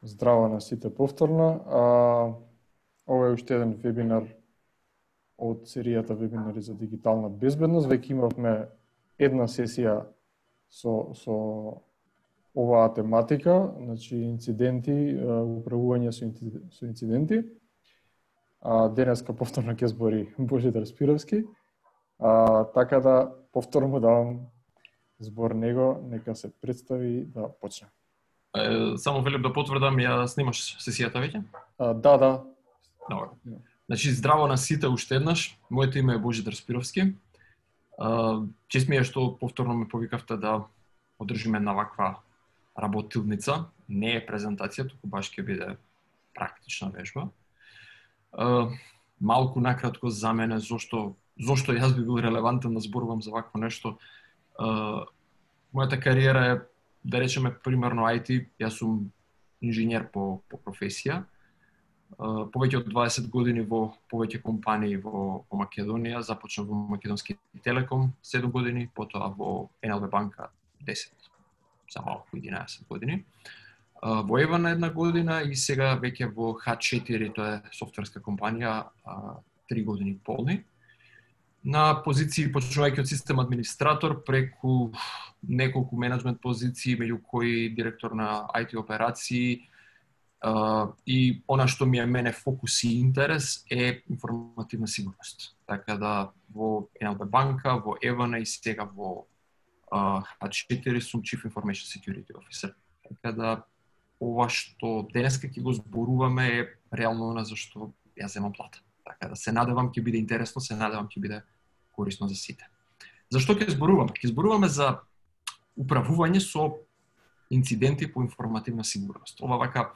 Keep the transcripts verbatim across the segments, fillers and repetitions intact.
Здраво на сите повторно. А, ова е уште еден вебинар од серијата вебинари за дигитална безбедност. Веќе имавме една сесија со, со оваа тематика, значи инциденти, управување со, со инциденти. А, денеска повторно ќе збори Божидар Спировски. А, така да повторно му давам збор него, нека се представи да почне. Само велим да потврдам, ја снимаш сесијата веќе? А, да, да. Добро. Значи, здраво на сите уште еднаш. Моето име е Божидар Спировски. Чест ми е што повторно ме повикавте да одржиме една ваква работилница. Не е презентација, туку баш ќе биде практична вежба. Малку накратко за мене, зошто, зошто јас би бил релевантен да зборувам за вакво нешто. Мојата кариера е, да речеме, примерно ај ти, јас сум инженер по, по професија. Uh, повеќе од дваесет години во повеќе компании во, во Македонија, започнав во Македонски Телеком седум години, потоа во ен ел би банка десет, за малку единаесет години. Uh, во Евана една година и сега веќе во Х четири, тоа е софтверска компанија, uh, три години полни. На позиции, почнувајќи од систем администратор, преку неколку менеджмент позиции, меѓу кои директор на ај ти операции. Uh, и она што ми е мене фокус и интерес е информативна сигурност. Така да во ен ел би банка, во Евана и сега во uh, Х четири сум Chief Information Security Officer. Така да ова што денеска ќе го зборуваме е реално она за што јас земам плата. Така да се надевам ќе биде интересно, се надевам ќе биде корисно за сите. Зашто ќе зборуваме? Ќе зборуваме за управување со инциденти по информативна сигурност. Ова вака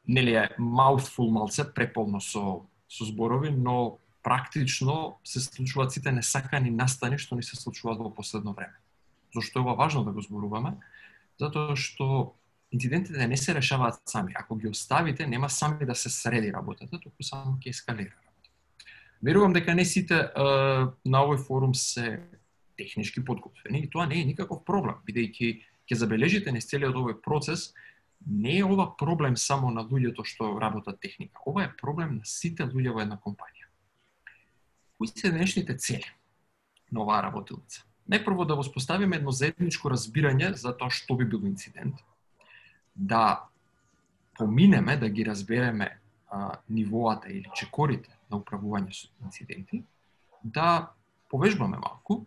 нели е mouthful малце, преполно со, со зборови, но практично се случуваат сите несакани настани што ни се случуваат во последно време. Зошто е ова важно да го зборуваме? Затоа што инцидентите не се решаваат сами. Ако ги оставите, нема сами да се среди работата, туку само ќе ескалира работата. Верувам дека не сите е, на овој форум се технички подготвени и тоа не е никаков проблем, бидејќи ќе забележите низ целиот овој процес. Не е ова проблем само на луѓето што работат техника. Ова е проблем на сите луѓе во една компанија. Кои се денешните цели на оваа работилница? Најпрво да воспоставиме едно заедничко разбирање за тоа што би бил инцидент, да поминеме, да ги разбереме а, нивоата или чекорите на управување со инциденти, да повежбаме малку,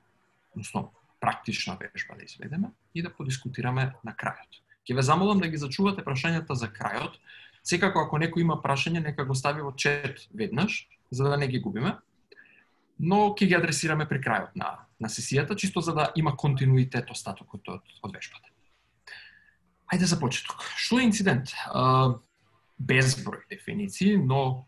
односно практична вежба да изведеме и да подискутираме на крајот. Ќе ве замолам да ги зачувате прашањата за крајот. Секако ако некој има прашање, нека го стави во чет веднаш, за да не ги губиме. Но ќе ги адресираме при крајот на, на сесијата, чисто за да има континуитет остатокот од, од вежбата. Ајде за почеток. Што е инцидент? А, безброј дефиниции, но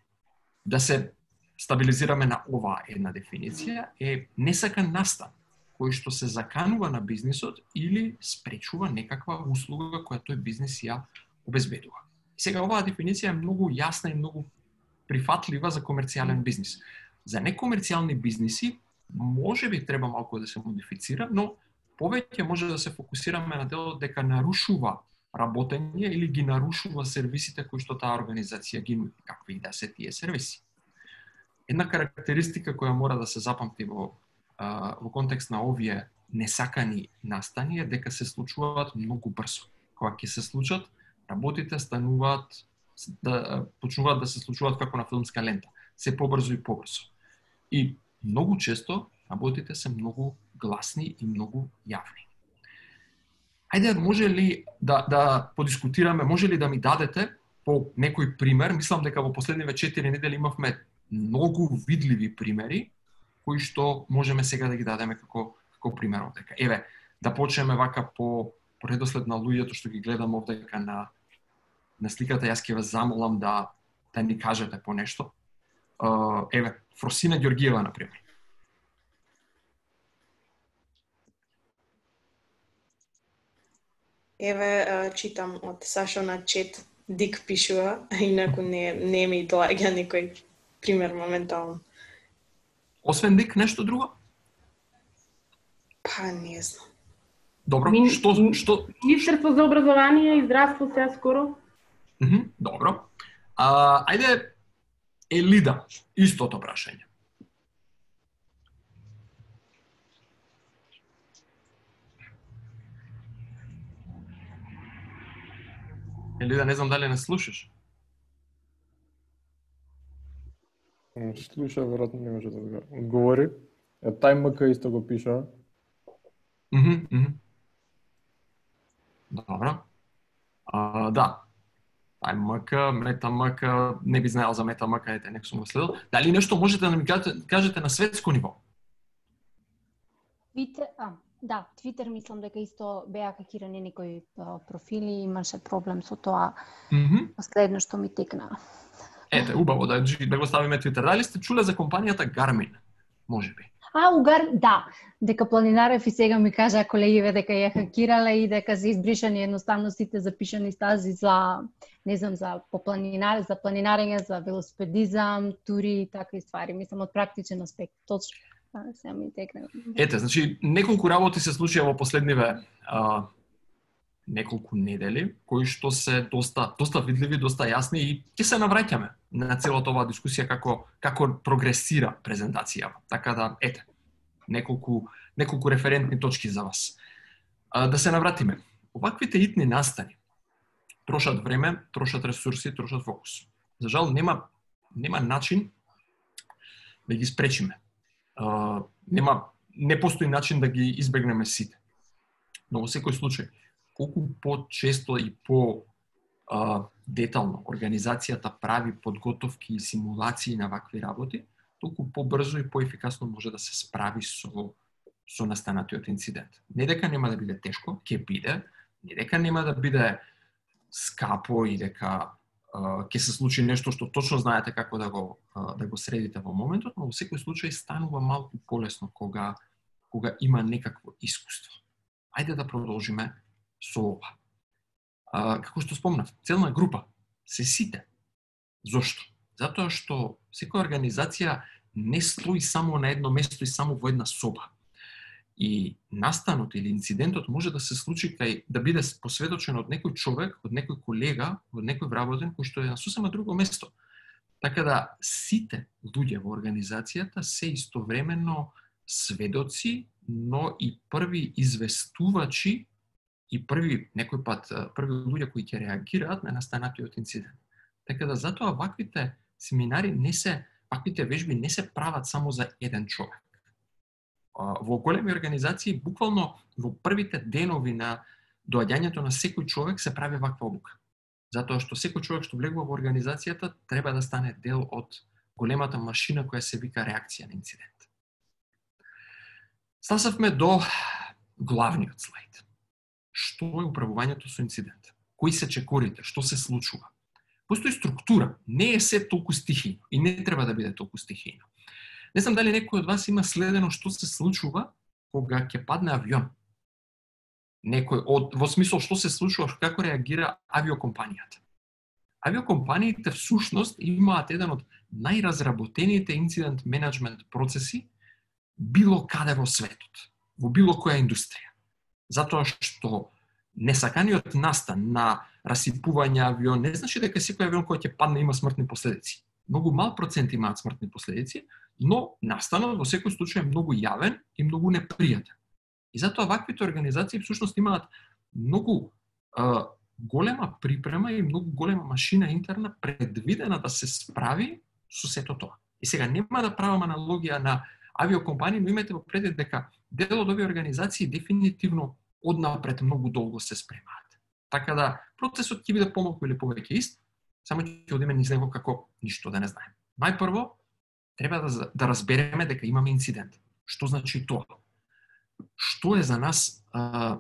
да се стабилизираме на оваа една дефиниција е несакан настан кој што се заканува на бизнисот или спречува некаква услуга која тој бизнис ја обезбедува. Сега оваа дефиниција е многу јасна и многу прифатлива за комерцијален бизнис. За некомерцијални бизниси може би треба малку да се модифицира, но повеќе може да се фокусираме на делот дека нарушува работење или ги нарушува сервисите кои што таа организација ги нуди, какви да се тие сервиси. Една карактеристика која мора да се запамти во во контекст на овие несакани настани е дека се случуваат многу брзо. Кога ќе се случат, работите стануваат да почнуваат да се случуваат како на филмска лента, се побрзо и побрзо. И многу често работите се многу гласни и многу јавни. Ајде, може ли да да подискутираме, може ли да ми дадете по некој пример? Мислам дека во последниве четири недели имавме многу видливи примери кои што можеме сега да ги дадеме како, како пример овдека. Еве, да почнеме вака по, по редослед на луѓето што ги гледам овдека на, на сликата, јас ќе ве замолам да, да ни кажете по нешто. Uh, еве, Фросина Ѓоргиева, например. Еве, читам од Сашо на чет, Дик пишува, инаку не, не ми доаѓа некој пример моментално. Освен Дик, нешто друго? Па, не знам. Добро, Мин, што... што... Министерство за образование и здравство сега скоро. Mm-hmm, добро. А, ајде, Елида, истото прашање. Елида, не знам дали не слушаш. Слуша, веројатно не може да го одговори. Е, тај МК исто го пиша. Мхм, мхм. Добро. А, да. Тај МК, Мета МК, не би знаел за Мета МК, ете, нек сум го следил. Дали нешто можете да ми кажете, кажете на светско ниво? Твитер, а, да, Твитер мислам дека исто беа хакирани некои профили, имаше проблем со тоа. Mm-hmm. Последно што ми текна. Ете, убаво да, да го ставиме Твитер. Дали сте чуле за компанијата Garmin? Можеби. А, угар, да, дека Планинарев и сега ми кажа колегиве дека ја хакирале и дека се избришани едноставно сите запишани стази за, не знам, за попланинар, за планинарење, за велосипедизам, тури и такви ствари. Мислам од практичен аспект. Точно. А, сега ми текна. Ете, значи неколку работи се случија во последниве а, неколку недели, кои што се доста доста видливи, доста јасни и ќе се навраќаме на целата оваа дискусија како како прогресира презентацијава. Така да ете, неколку неколку референтни точки за вас. А, да се навратиме. Оваквите итни настани трошат време, трошат ресурси, трошат фокус. За жал нема нема начин да ги спречиме. Uh, нема, не постои начин да ги избегнеме сите. Но во секој случај, колку по-често и по uh, детално организацијата прави подготовки и симулации на вакви работи, толку побрзо и поефикасно може да се справи со со настанатиот инцидент. Не дека нема да биде тешко, ќе биде, не дека нема да биде скапо и дека ќе се случи нешто што точно знаете како да го да го средите во моментот, но во секој случај станува малку полесно кога кога има некакво искуство. Ајде да продолжиме со ова. А, како што спомнав, целна група се сите. Зошто? Затоа што секоја организација не стои само на едно место и само во една соба. И настанот или инцидентот може да се случи кај да биде посведочен од некој човек, од некој колега, од некој вработен кој што е на сосема друго место. Така да сите луѓе во организацијата се истовремено сведоци, но и први известувачи и први некој пат први луѓе кои ќе реагираат на настанатиот инцидент. Така да затоа ваквите семинари не се, ваквите вежби не се прават само за еден човек. Во големи организации, буквално во првите денови на доаѓањето на секој човек се прави ваква обука. Затоа што секој човек што влегува во организацијата треба да стане дел од големата машина која се вика реакција на инцидент. Стасавме до главниот слайд. Што е управувањето со инцидент? Кои се чекорите? Што се случува? Постои структура, не е се толку стихијно и не треба да биде толку стихијно. Не знам дали некој од вас има следено што се случува кога ќе падне авион. Некој од во смисол што се случува, како реагира авиокомпанијата. Авиокомпаниите всушност имаат еден од најразработените инцидент менеджмент процеси било каде во светот, во било која индустрија. Затоа што несаканиот настан на расипување авион не значи дека секој авион кој ќе падне има смртни последици. Многу мал процент имаат смртни последици, но настанот во секој случај е многу јавен и многу непријатен. И затоа ваквите организации всушност имаат многу а, голема припрема и многу голема машина интерна предвидена да се справи со сето тоа. И сега нема да правам аналогија на авиокомпании, но имате во предвид дека дел од овие организации дефинитивно однапред многу долго се спремаат. Така да процесот ќе биде помалку или повеќе ист, само ќе одиме низ него како ништо да не знаеме. Најпрво треба да, да разбереме дека имаме инцидент. Што значи тоа? Што е за нас а,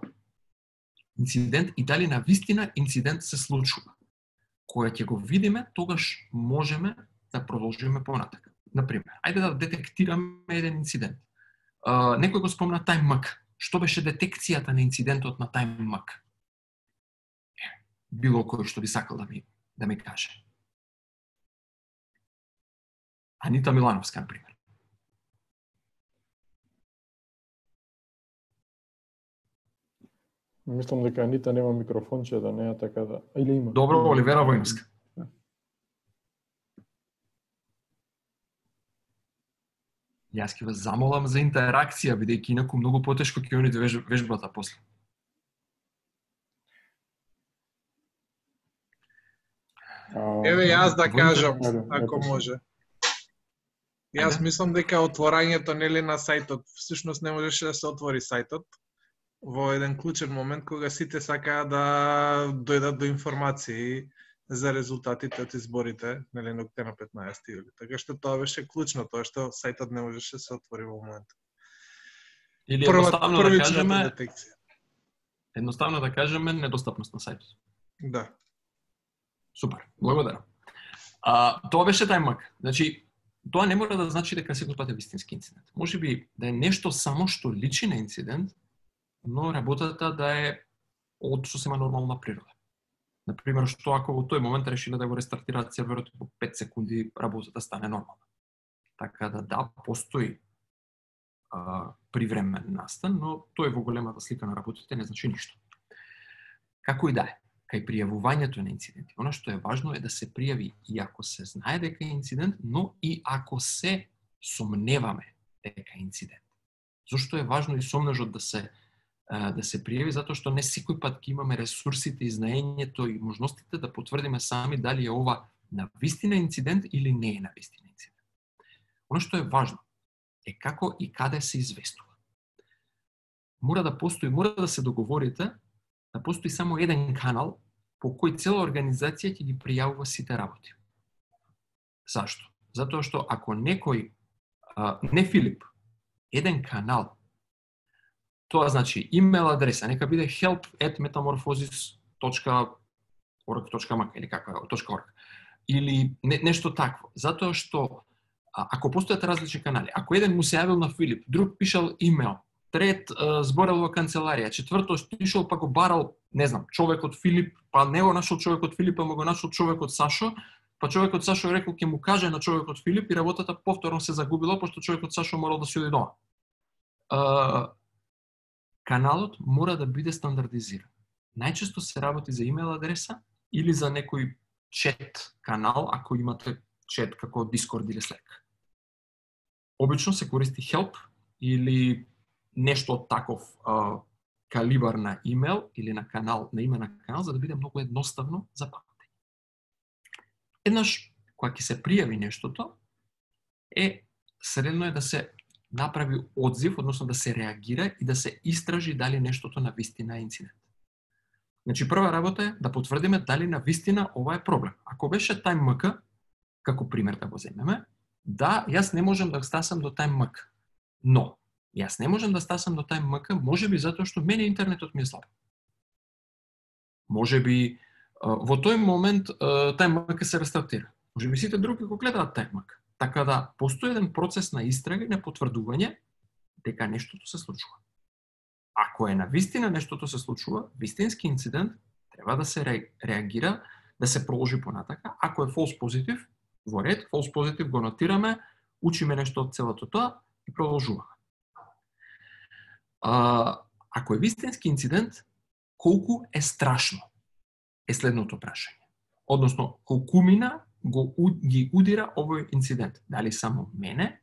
инцидент и дали на вистина инцидент се случува? Кога ќе го видиме, тогаш можеме да продолжиме понатака. Например, ајде да детектираме еден инцидент. А, некој го спомна TimeMug. Што беше детекцијата на инцидентот на TimeMug? Било кој што би сакал да ми, да ми каже. Анита Милановска, например. Мислам дека Анита нема микрофонче, да не е така да... Или има? Добро, Оливера Воинска. Јас ќе ве замолам за интеракција, бидејќи инаку многу потешко ќе ониде веж, вежбата после. Еве јас да кажам, Ајде, ако ајде. може. Јас Ајде. мислам дека отворањето нели на сајтот, всушност не можеше да се отвори сајтот во еден клучен момент кога сите сакаа да дојдат до информации за резултатите од изборите, нели на октомври на петнаесети јули. Така што тоа беше клучно, тоа што сајтот не можеше да се отвори во моментот. Или Прва, едноставно да првичната кажеме, детекција. едноставно да кажеме недостапност на сајтот. Да. Супер, благодарам. А, тоа беше тајмак. Значи, тоа не мора да значи дека секој пат е вистински инцидент. Може би да е нешто само што личи на инцидент, но работата да е од сосема нормална природа. Например, што ако во тој момент решиле да го рестартираат серверот и по пет секунди работата стане нормална. Така да да, постои а, привремен настан, но тој во големата слика на работите не значи ништо. Како и да е, кај пријавувањето на инциденти, она што е важно е да се пријави и ако се знае дека е инцидент, но и ако се сомневаме дека е инцидент. Зошто е важно и сомнежот да се да се пријави, затоа што не секој пат ќе имаме ресурсите и знаењето и можностите да потврдиме сами дали е ова навистина инцидент или не е навистина инцидент. Оно што е важно е како и каде се известува. Мора да постои, мора да се договорите да постои само еден канал по кој цела организација ќе ги пријавува сите работи. Зашто? Затоа што ако некој, а, не Филип, еден канал, тоа значи имейл адреса, нека биде help at metamorphosis dot org dot m k или како е, .org. Или не, нешто такво. Затоа што а, ако постојат различни канали, ако еден му се јавил на Филип, друг пишал имейл, трет а, зборел во канцеларија, четврто стишал па го барал, не знам, човек од Филип, па не го нашол човек од Филип, па му го нашол човек од Сашо, па човек од Сашо рекол ќе му каже на човек од Филип и работата повторно се загубила, пошто човек од Сашо морал да си оди дома. А, каналот мора да биде стандардизиран. Најчесто се работи за имейл адреса или за некој чет канал, ако имате чет како Discord или Slack. Обично се користи help или нешто од таков а, калибар на имейл или на канал, на име на канал, за да биде многу едноставно за памтење. Еднаш, кога ќе се пријави нештото, е средно е да се направи одзив, односно да се реагира и да се истражи дали нештото на вистина е инцидент. Значи, прва работа е да потврдиме дали на вистина ова е проблем. Ако беше TimeMK, како пример да го земеме, да, јас не можам да стасам до TimeMK. Но, јас не можам да стасам до TimeMK, може би затоа што мене интернетот ми е слаб. Може би во тој момент TimeMK се рестартира. Може би сите други го гледаат TimeMK. Така да, постои еден процес на истрага и на потврдување дека нештото се случува. Ако е на вистина нештото се случува, вистински инцидент, треба да се ре, реагира, да се проложи понатака. Ако е false positive, во ред, false positive го нотираме, учиме нешто од целото тоа и продолжуваме. А, ако е вистински инцидент, колку е страшно е следното прашање. Односно, колкумина го ги удира овој инцидент. Дали само мене,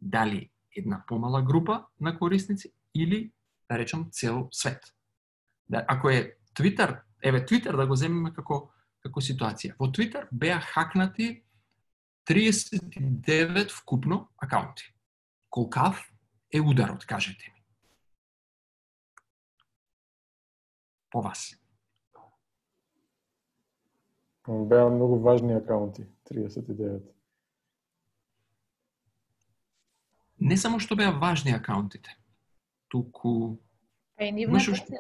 дали една помала група на корисници или, да речем, цел свет. Да, ако е Twitter, еве Twitter да го земеме како како ситуација. Во Twitter беа хакнати триесет и девет вкупно акаунти. Колкав е ударот, кажете ми? По вас. Беа многу важни акаунти, триесет и девет. Не само што беа важни акаунтите, туку... Па и нивната Мишуш... цел...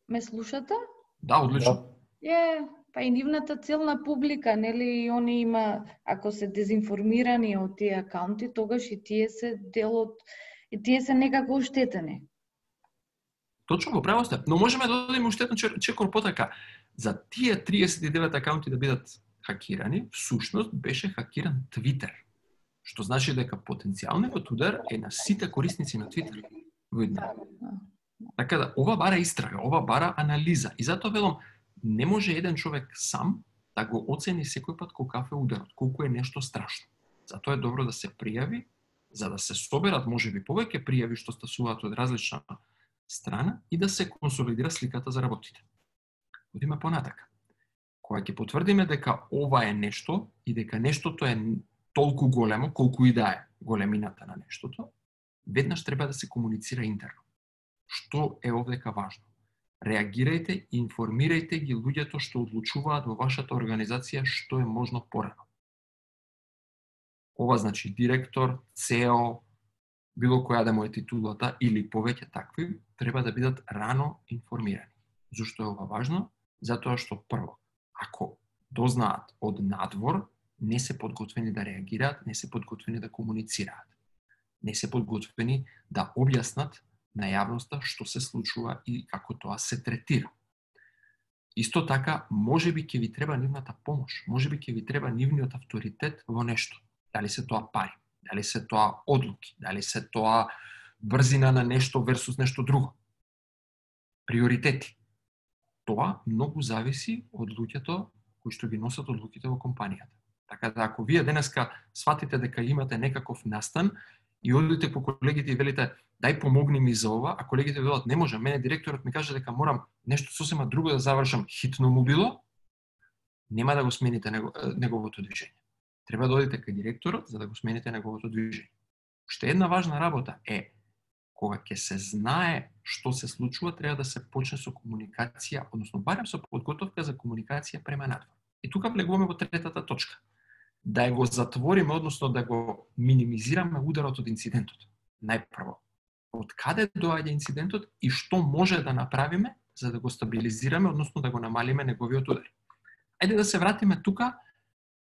Ме слушате? Да, одлично. Да. Е, па и нивната целна публика, нели, и они има, ако се дезинформирани од тие акаунти, тогаш и тие се дел од... и тие се некако оштетени. Точно во право сте, но можеме да додадеме уште еден чекор потака. За тие триесет и девет акаунти да бидат хакирани, всушност беше хакиран Twitter. Што значи дека потенцијалниот удар е на сите корисници на Twitter. Видно. Така да, ова бара истрага, ова бара анализа. И затоа велам, не може еден човек сам да го оцени секој пат колку е ударот, колку е нешто страшно. Затоа е добро да се пријави, за да се соберат можеби повеќе пријави што стасуваат од различна страна и да се консолидира сликата за работите. Одиме понатака. Кога ќе потврдиме дека ова е нешто и дека нештото е толку големо, колку и да е големината на нештото, веднаш треба да се комуницира интерно. Што е овдека важно? Реагирајте и информирајте ги луѓето што одлучуваат во вашата организација што е можно порано. Ова значи директор, С Е О, било која да му е титулата или повеќе такви, треба да бидат рано информирани. Зошто е ова важно? Затоа што прво, ако дознаат од надвор, не се подготвени да реагираат, не се подготвени да комуницираат. Не се подготвени да објаснат на јавноста што се случува и како тоа се третира. Исто така, можеби ќе ви треба нивната помош, можеби ќе ви треба нивниот авторитет во нешто. Дали се тоа пари, дали се тоа одлуки, дали се тоа брзина на нешто версус нешто друго. Приоритети. Тоа многу зависи од луѓето кои што ги носат одлуките во компанијата. Така да ако вие денеска сватите дека имате некаков настан и одите по колегите и велите дај помогни ми за ова, а колегите велат не може, мене директорот ми каже дека морам нешто сосема друго да завршам, хитно му било, нема да го смените неговото движење. Треба да одите кај директорот за да го смените неговото движење. Уште една важна работа е кога ќе се знае што се случува, треба да се почне со комуникација, односно барем со подготовка за комуникација према надвор. И тука влегуваме во третата точка. Да го затвориме, односно да го минимизираме ударот од инцидентот. Најпрво, од каде доаѓа инцидентот и што може да направиме за да го стабилизираме, односно да го намалиме неговиот удар. Ајде да се вратиме тука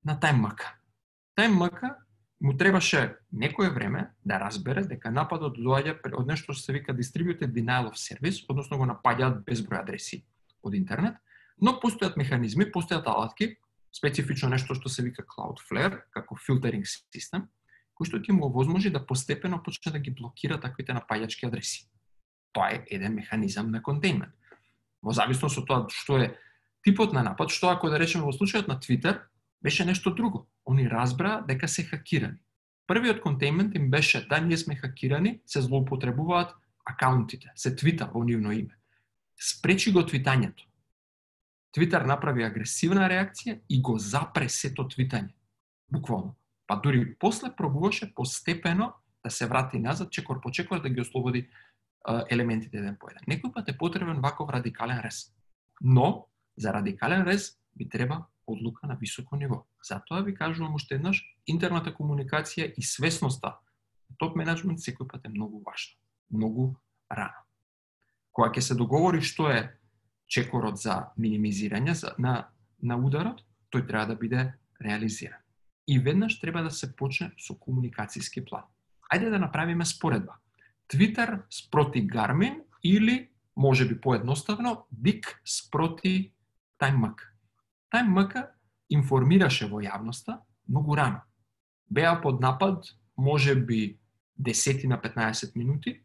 на TimeMK. TimeMK му требаше некое време да разбере дека нападот доаѓа од нешто што се вика Distributed Denial of Service, односно го напаѓаат безброј адреси од интернет, но постојат механизми, постојат алатки, специфично нешто што се вика Cloudflare, како филтеринг систем, кој што ќе му овозможи да постепено почне да ги блокира таквите напаѓачки адреси. Тоа е еден механизам на контейнмент. Во зависност од тоа што е типот на напад, што ако да речеме во случајот на Twitter, беше нешто друго. Они разбраа дека се хакирани. Првиот контейнмент им беше да ние сме хакирани, се злоупотребуваат акаунтите, се твита во нивно име. Спречи го твитањето. Твитер направи агресивна реакција и го запре сето твитање. Буквално. Па дури после пробуваше постепено да се врати назад, чекор по чекор да ги ослободи а, елементите еден по еден. Некој пат е потребен ваков радикален рез. Но, за радикален рез би треба одлука на високо ниво. Затоа ви кажувам уште еднаш, интерната комуникација и свесноста на топ менеджмент секој пат е многу важна. Многу рано. Кога ќе се договори што е чекорот за минимизирање на, на ударот, тој треба да биде реализиран. И веднаш треба да се почне со комуникацијски план. Ајде да направиме споредба. Twitter спроти Garmin или, може би поедноставно, Дик спроти TimeMK. TimeMK информираше во јавноста многу рано. Беа под напад, може би десет на петнаесет минути,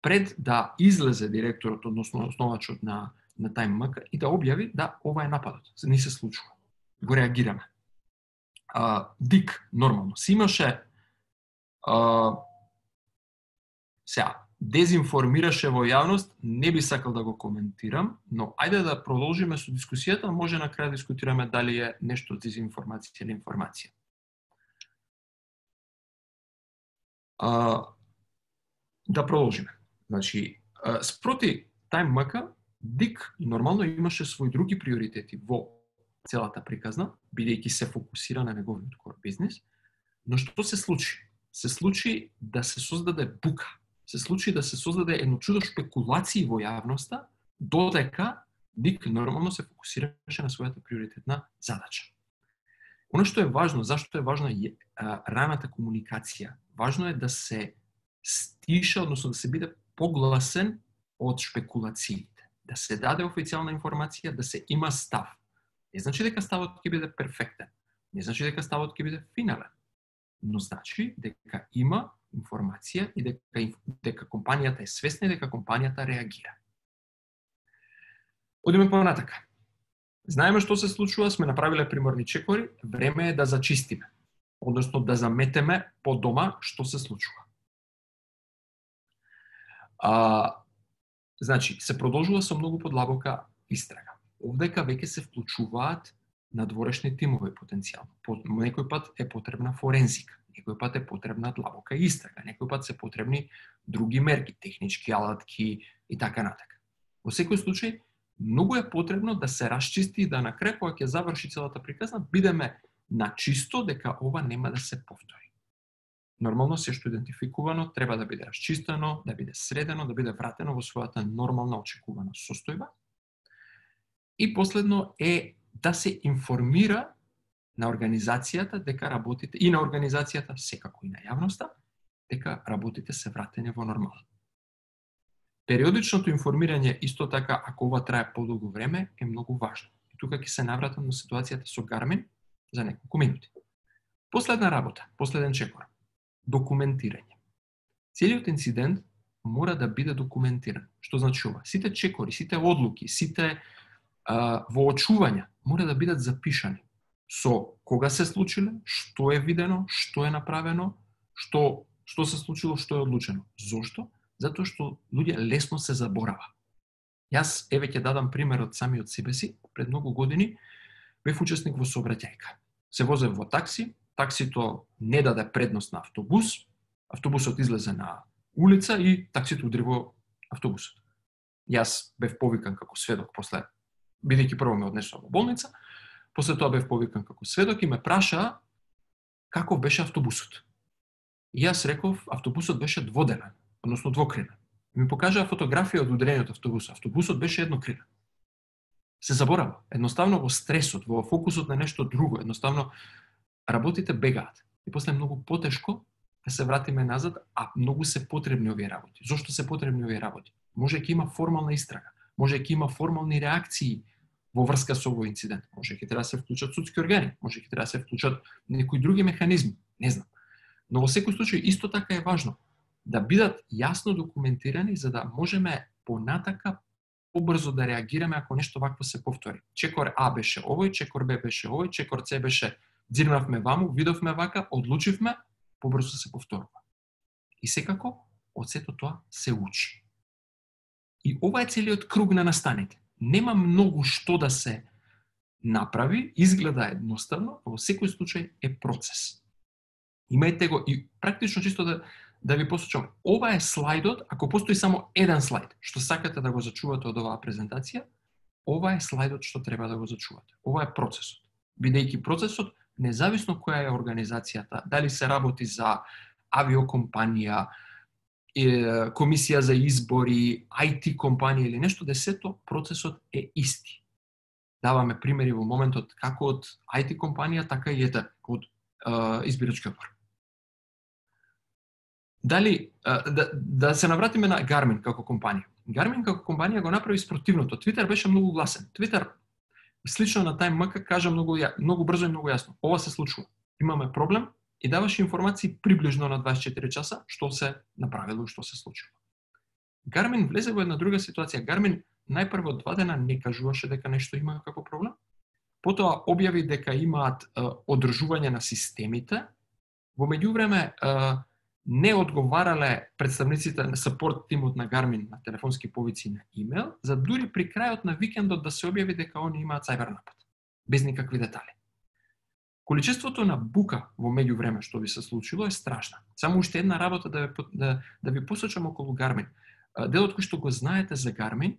пред да излезе директорот, односно основачот на на TimeMK и да објави да ова е нападот. Не се случува. Го реагираме. А, Дик, нормално, си имаше а, сега, дезинформираше во јавност, не би сакал да го коментирам, но ајде да продолжиме со дискусијата, може на крај да дискутираме дали е нешто дезинформација или информација. А, да продолжиме. Значи, а, спроти TimeMK, Дик нормално имаше своји други приоритети во целата приказна, бидејќи се фокусира на неговиот кор бизнис, но што се случи? Се случи да се создаде бука, се случи да се создаде едно чудо шпекулации во јавноста, додека Дик нормално се фокусираше на својата приоритетна задача. Оно што е важно, зашто е важна е а, раната комуникација? Важно е да се стиша, односно да се биде погласен од шпекулациите. Да се даде официјална информација, да се има став. Не значи дека ставот ќе биде перфектен. Не значи дека ставот ќе биде финален. Но значи дека има информација и дека, дека компанијата е свесна и дека компанијата реагира. Одиме понатака. Знаеме што се случува, сме направиле приморни чекори, време е да зачистиме, односно да заметеме по дома што се случува. А, значи, се продолжува со многу подлабока истрага. Овдека веќе се вклучуваат надворешни тимови потенцијално. По, некој пат е потребна форензика, некој пат е потребна длабока истрага, некој пат се потребни други мерки, технички алатки и така натака. Во секој случај, многу е потребно да се расчисти и да на крај кога ќе заврши целата приказна, бидеме на чисто дека ова нема да се повтори. Нормално се што идентификувано треба да биде расчистено, да биде средено, да биде вратено во својата нормална очекувана состојба. И последно е да се информира на организацијата дека работите и на организацијата, секако и на јавноста, дека работите се вратени во нормала. Периодичното информирање исто така, ако ова трае подолго време, е многу важно. И тука ќе се навратам на ситуацијата со Garmin за неколку минути. Последна работа, последен чекор. Документирање. Целиот инцидент мора да биде документиран. Што значи ова? Сите чекори, сите одлуки, сите а, воочувања мора да бидат запишани со кога се случиле, што е видено, што е направено, што што се случило, што е одлучено. Зошто? Затоа што луѓе лесно се заборава. Јас еве ќе дадам пример од самиот себе си. Пред многу години бев учесник во сообраќајка. Се возев во такси, таксито не даде предност на автобус, автобусот излезе на улица и таксито удри во автобусот. Јас бев повикан како сведок после, бидејќи прво ме однесува во болница, после тоа бев повикан како сведок и ме праша каков беше автобусот. И јас реков, автобусот беше дводелен, односно двокрилен. Ми покажаа фотографија од удрениот автобус. Автобусот беше еднокрилен. Се заборава. Едноставно во стресот, во фокусот на нешто друго, едноставно работите бегаат. И после многу потешко да се вратиме назад, а многу се потребни овие работи. Зошто се потребни овие работи? Може ќе има формална истрага, може ќе има формални реакции во врска со овој инцидент. Може ќе треба да се вклучат судски органи, може ќе треба да се вклучат некои други механизми, не знам. Но во секој случај исто така е важно да бидат јасно документирани за да можеме понатака побрзо да реагираме ако нешто вакво се повтори. Чекор А беше овој, чекор Б беше овој, чекор С беше дзирнавме ваму, видовме вака, одлучивме, побрзо се повторува. И секако, од сето тоа се учи. И ова е целиот круг на настаните. Нема многу што да се направи, изгледа едноставно, а во секој случај е процес. Имајте го и практично чисто да да ви посочам, ова е слайдот, ако постои само еден слайд, што сакате да го зачувате од оваа презентација, ова е слайдот што треба да го зачувате. Ова е процесот. Бидејќи процесот, независно која е организацијата, дали се работи за авиокомпанија, комисија за избори, ай ти компанија или нешто, десето процесот е исти. Даваме примери во моментот како од ай ти компанија, така и ете од е, избирачки одбор. Дали, да, да се навратиме на Garmin како компанија. Garmin како компанија го направи спротивното. Twitter беше многу гласен. Twitter, слично на TimeMK, кажа многу, многу брзо и многу јасно. Ова се случува. Имаме проблем и даваше информации приближно на дваесет и четири часа што се направило и што се случило. Garmin влезе во една друга ситуација. Garmin најпрво два дена не кажуваше дека нешто има како проблем. Потоа објави дека имаат е, одржување на системите. Во меѓувреме е, не одговарале представниците на сапорт тимот на Garmin на телефонски повици и на имейл, за дури при крајот на викендот да се објави дека они имаат сајбер напад, без никакви детали. Количеството на бука во меѓувреме што би се случило е страшна. Само уште една работа да ви, да, да ви посочам околу Garmin. Делот кој што го знаете за Garmin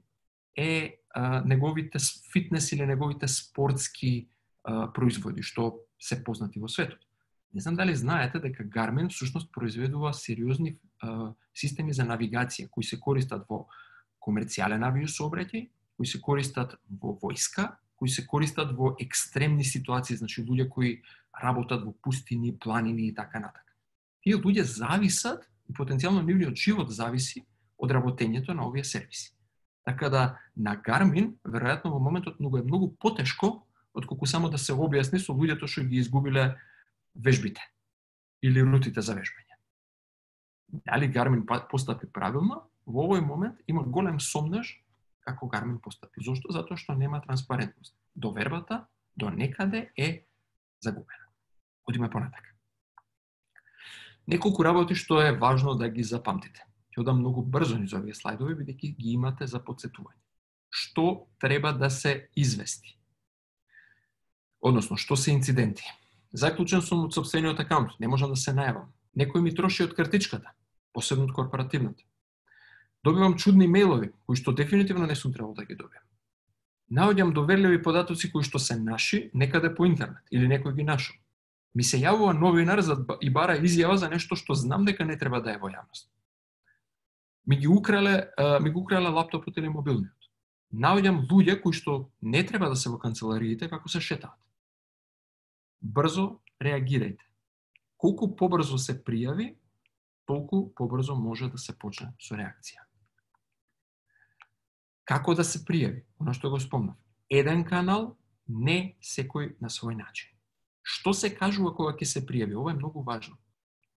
е а, неговите фитнес или неговите спортски а, производи, што се познати во светот. Не знам дали знаете дека Garmin всушност произведува сериозни а, системи за навигација кои се користат во комерцијален авиосообраќај, кои се користат во војска, кои се користат во екстремни ситуации, значи луѓе кои работат во пустини, планини и така натака. Тие луѓе зависат и потенцијално нивниот живот зависи од работењето на овие сервиси. Така да на Garmin веројатно во моментот многу е многу потешко отколку само да се објасни со луѓето што ги изгубиле вежбите или рутите за вежбање. Дали Гармин постапи правилно, во овој момент има голем сомнеж како Гармин постапи. Зошто? Затоа што нема транспарентност. Довербата до некаде е загубена. Одиме понатака. Неколку работи што е важно да ги запамтите. Ќе одам многу брзо низ овие слайдови, бидејќи ги имате за потсетување. Што треба да се извести? Односно, што се инциденти? Заклучен сум од сопствениот акаунт, не можам да се најавам. Некој ми троши од картичката, посебно од корпоративната. Добивам чудни мејлови, кои што дефинитивно не сум требал да ги добиам. Наоѓам доверливи податоци кои што се наши некаде по интернет или некој ги нашол. Ми се јавува новинар за и бара изјава за нешто што знам дека не треба да е во јавност. Ми ги украле, ми го украле лаптопот или мобилниот. Наоѓам луѓе кои што не треба да се во канцелариите како се шетаат. Брзо реагирајте. Колку побрзо се пријави, толку побрзо може да се почне со реакција. Како да се пријави? Оно што го спомнав. Еден канал, не секој на свој начин. Што се кажува кога ќе се пријави? Ова е многу важно.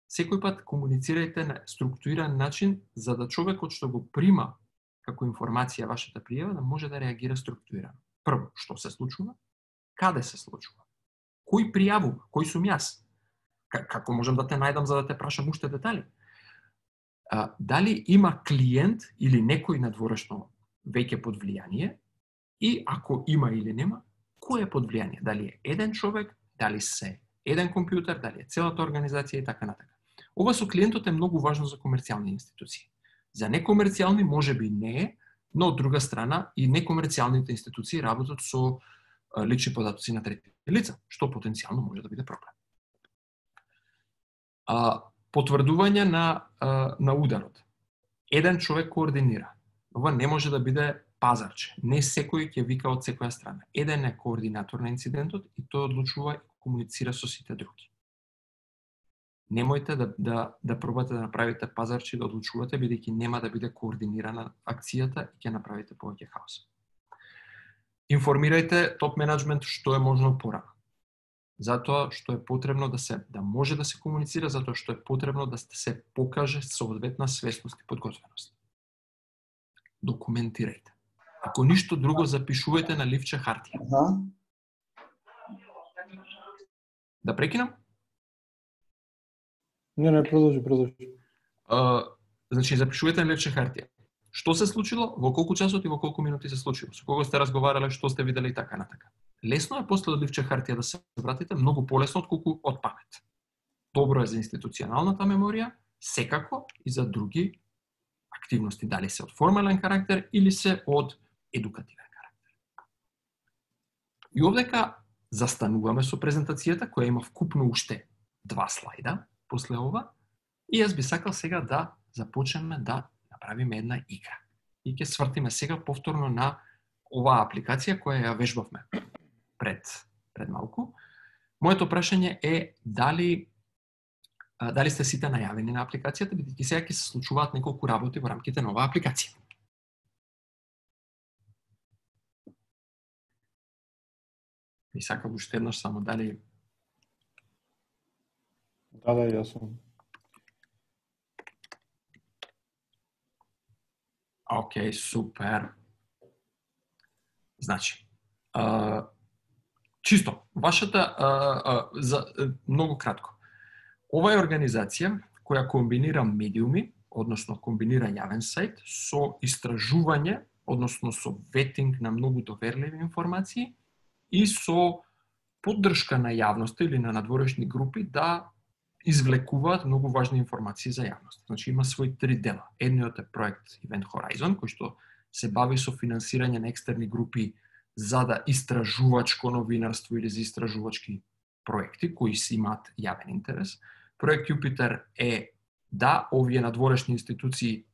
Секој пат комуницирајте на структуриран начин за да човекот што го прима како информација вашата пријава да може да реагира структурирано. Прво, што се случува? Каде се случува? Кој пријавува? Кој сум јас? Како можам да те најдам за да те прашам уште детали? А, дали има клиент или некој надворешно веќе под влијание? И ако има или нема, кој е под влијание? Дали е еден човек, дали се еден компјутер, дали е целата организација и така натака. Ова со клиентот е многу важно за комерцијални институции. За некомерцијални може би не е, но од друга страна и некомерцијалните институции работат со лични податоци на трети лица, што потенцијално може да биде проблем. А, потврдување на, а, на ударот. Еден човек координира. Ова не може да биде пазарче. Не секој ќе вика од секоја страна. Еден е координатор на инцидентот и тој одлучува и комуницира со сите други. Немојте да, да, да пробате да направите пазарче и да одлучувате, бидејќи нема да биде координирана акцијата и ќе направите повеќе хаос. Информирајте топ менеджмент што е можно порано. Затоа што е потребно да се да може да се комуницира, затоа што е потребно да се покаже соодветна свесност и подготвеност. Документирајте. Ако ништо друго, запишувајте на ливче хартија. Аха. Да прекинам? Не, не, продолжи, продолжи. А, значи, запишувајте на ливче хартија. Што се случило, во колку часот и во колку минути се случило, со кого сте разговарале, што сте виделе и така натака. Лесно е после од ливче хартија да се вратите, многу полесно отколку од памет. Добро е за институционалната меморија, секако и за други активности, дали се од формален карактер или се од едукативен карактер. И овдека застануваме со презентацијата, која има вкупно уште два слайда после ова, и јас би сакал сега да започнеме да направиме една игра. И ќе свртиме сега повторно на оваа апликација која ја вежбавме пред, пред малку. Моето прашање е дали дали сте сите најавени на апликацијата, бидејќи сега ќе се случуваат неколку работи во рамките на оваа апликација. И сакам уште еднаш само дали... Да, да, јас сум. Океј, супер. Значи, а, чисто, вашата, а, а, за, многу кратко. Ова е организација која комбинира медиуми, односно комбинира јавен сајт со истражување, односно со ветинг на многу доверливи информации и со поддршка на јавноста или на надворешни групи да извлекуваат многу важни информации за јавност. Значи има свој три дела. Едниот е проект Event Horizon, кој што се бави со финансирање на екстерни групи за да истражувачко новинарство или за истражувачки проекти кои си имаат јавен интерес. Проект Јупитер е да овие надворешни институции,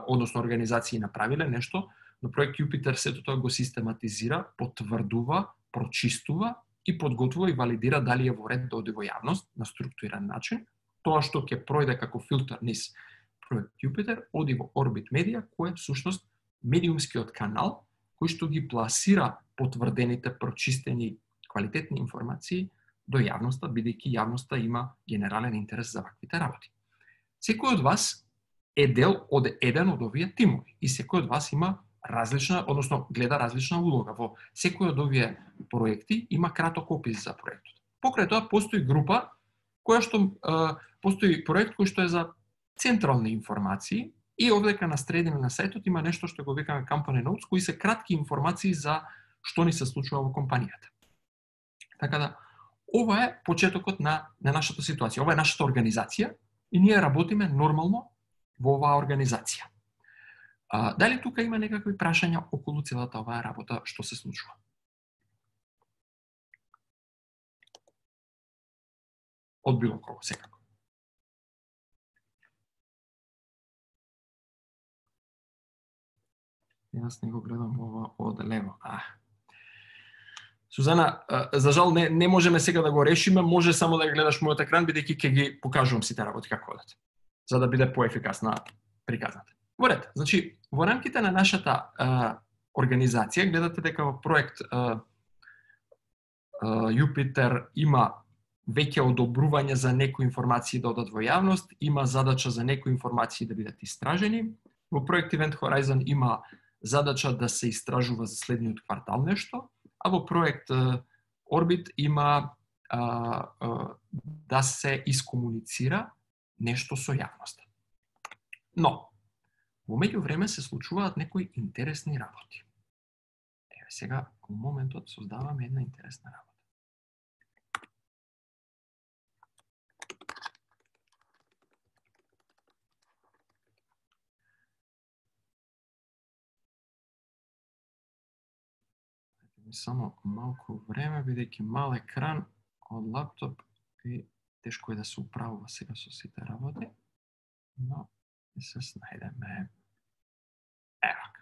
односно организации направиле нешто, но проект Јупитер сето тоа го систематизира, потврдува, прочистува и подготвува и валидира дали е во ред да оди во јавност на структуриран начин. Тоа што ќе пројде како филтер низ проект Јупитер оди во Орбит Медија, кој е всушност медиумскиот канал кој што ги пласира потврдените, прочистени, квалитетни информации до јавноста, бидејќи јавноста има генерален интерес за ваквите работи. Секој од вас е дел од еден од овие тимови и секој од вас има различна, односно гледа различна улога. Во секој од овие проекти има краток опис за проектот. Покрај тоа постои група која што е, постои проект кој што е за централни информации и овдека на средина на сајтот има нешто што го викаме company notes, кои се кратки информации за што ни се случува во компанијата. Така да ова е почетокот на на нашата ситуација. Ова е нашата организација и ние работиме нормално во оваа организација. А, дали тука има некакви прашања околу целата оваа работа што се случува? Од било кого, секако. Јас не го гледам ова од лево. А. Сузана, за жал не, не можеме сега да го решиме, може само да гледаш мојот екран, бидејќи ќе ги покажувам сите работи како одат, за да биде поефикасна приказната. Во ред, значи, во рамките на нашата а, организација, гледате дека во проект а, а, Јупитер има веќе одобрување за некои информации да одат во јавност, има задача за некои информации да бидат истражени. Во проект Event Horizon има задача да се истражува за следниот квартал нешто, а во проект Orbit има а, а, да се искомуницира нешто со јавноста. Но, во меѓувреме се случуваат некои интересни работи. Еве сега, во моментот, создаваме една интересна работа. Само малку време, бидејќи мал екран од лаптоп и тешко е да се управува сега со сите работи, но се снајдеме. Евак.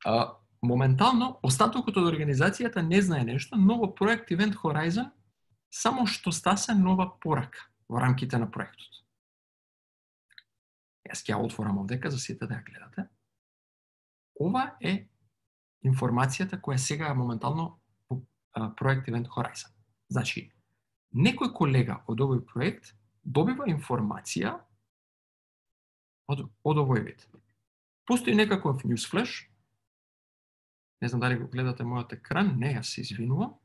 А, моментално, остатокот од организацијата не знае нешто, но во проект Event Horizon само што стасе нова порака во рамките на проектот. Јас ќе ја отворам овдека за сите да ја гледате. Ова е информацијата која сега е моментално по проект Event Horizon. Значи, некој колега од овој проект добива информација од, од овој вид. Постои некаков newsflash, не знам дали го гледате мојот екран, не, јас се извинувам,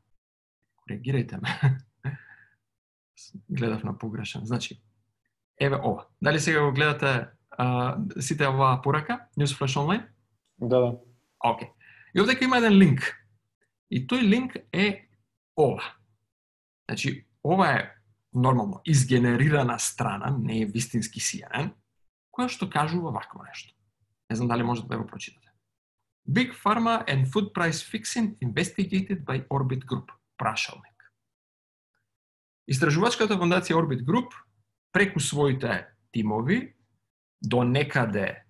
коригирајте ме. Гледав на погрешен. Значи, еве ова. Дали сега го гледате а, сите оваа порака, newsflash онлайн? Да, да. Океј. И овдека има еден линк. И тој линк е ова. Значи, ова е нормално изгенерирана страна, не е вистински Си Ен Ен, која што кажува вакво нешто. Не знам дали можете да го прочитате. Big Pharma and Food Price Fixing investigated by Orbit Group. Прашалник. Истражувачката фондација Orbit Group преку своите тимови до некаде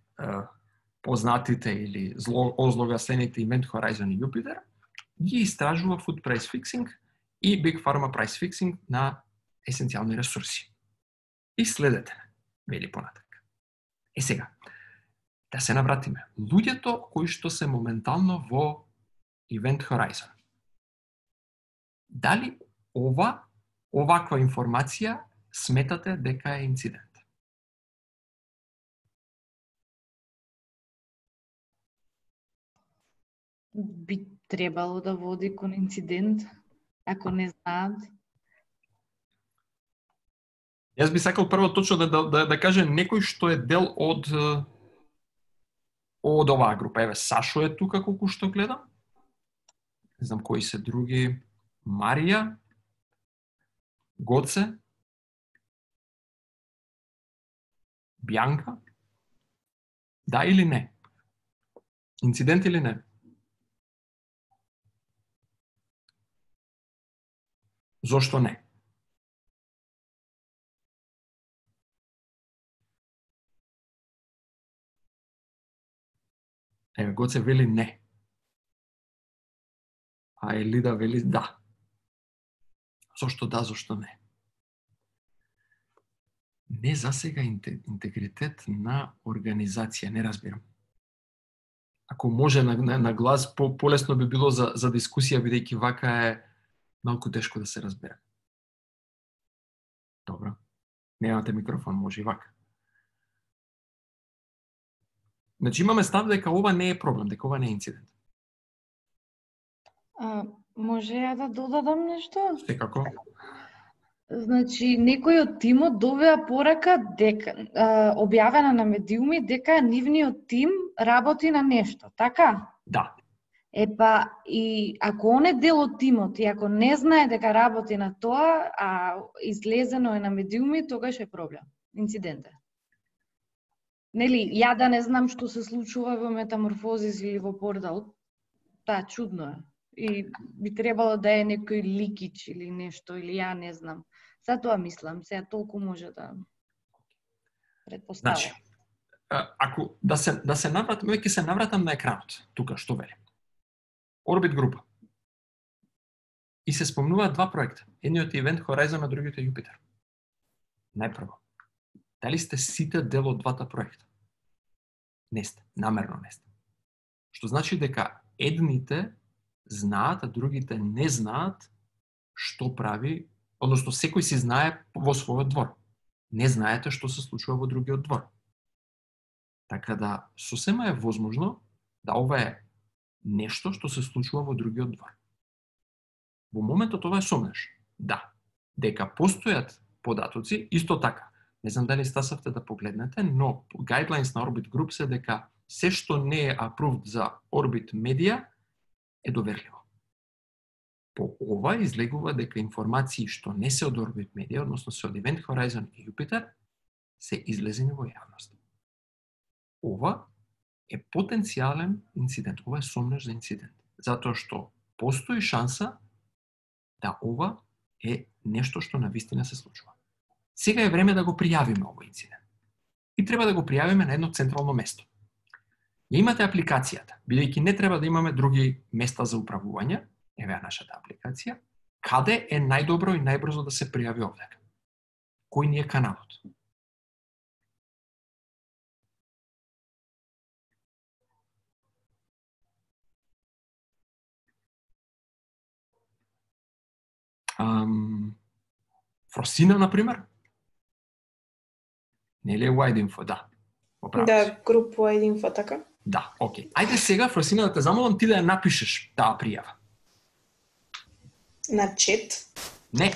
познатите или озлогаслените Event Horizon и Jupiter, ги истражува Food Price Fixing и Big Pharma Price Fixing на есенцијални ресурси. И следете, вели понатак. Е сега, да се навратиме. Луѓето кои што се моментално во Event Horizon. Дали ова, оваква информација сметате дека е инцидент? Би требало да води кон инцидент, ако не знаат. Јас би сакал прво точно да, да, да кажа некој што е дел од од оваа група. Еве, Сашо е тука колку што гледам. Не знам кои се други. Марија, Гоце, Бјанка. Да или не? Инцидент или не? Зошто не? Еве, Гоце вели не. А Елида вели да. Зошто да, зошто не? Не засега интегритет на организација, не разбирам. Ако може на, на, на глас, по, полесно би било за, за дискусија, бидејќи вака е малку тешко да се разбере. Добро. Немате микрофон, може и вака. Значи имаме став дека ова не е проблем, дека ова не е инцидент. А, може ја да додадам нешто? Секако. Значи, некој од тимот добија порака дека а, објавена на медиуми дека нивниот тим работи на нешто, така? Да. Епа, и ако он е дел од тимот и ако не знае дека работи на тоа, а излезено е на медиуми, тогаш е проблем, инцидент е. Нели, ја да не знам што се случува во Метаморфозис или во Портал, таа чудно е. И би требало да е некој ликич или нешто, или ја не знам. Затоа мислам, сега толку може да предпоставам. Значи, ако да се да се навратам, ќе се навратам на екранот. Тука што вели? Orbit група. И се спомнуваат два проекта. Едниот е Event Horizon, а другиот е Jupiter. Најпрво, дали сте сите дел од двата проекта? Не сте, намерно не сте. Што значи дека едните знаат, а другите не знаат што прави, односно секој си знае во својот двор. Не знаете што се случува во другиот двор. Така да, сосема е возможно да ова е нешто што се случува во другиот двор. Во моментот ова е сомнеш. Да, дека постојат податоци, исто така. Не знам дали стасавте да погледнете, но guidelines на Orbit Group се дека се што не е approved за Orbit Media е доверливо. По ова излегува дека информации што не се од Orbit Media, односно се од Event Horizon и Jupiter, се излезени во јавност. Ова е потенцијален инцидент, ова е сомнеш за инцидент, затоа што постои шанса да ова е нешто што навистина се случува. Сега е време да го пријавиме овој инцидент. И треба да го пријавиме на едно централно место. Ја имате апликацијата, бидејќи не треба да имаме други места за управување, еве нашата апликација, каде е најдобро и најбрзо да се пријави овдека? Кој ни е каналот? Um, Фросина, например? Нели е Wide Info, да. Оправи Да, се. груп Wide Info, така? Да, окей. Ајде сега, Фросина, да те замолам ти да ја напишеш таа пријава. На чет. Не,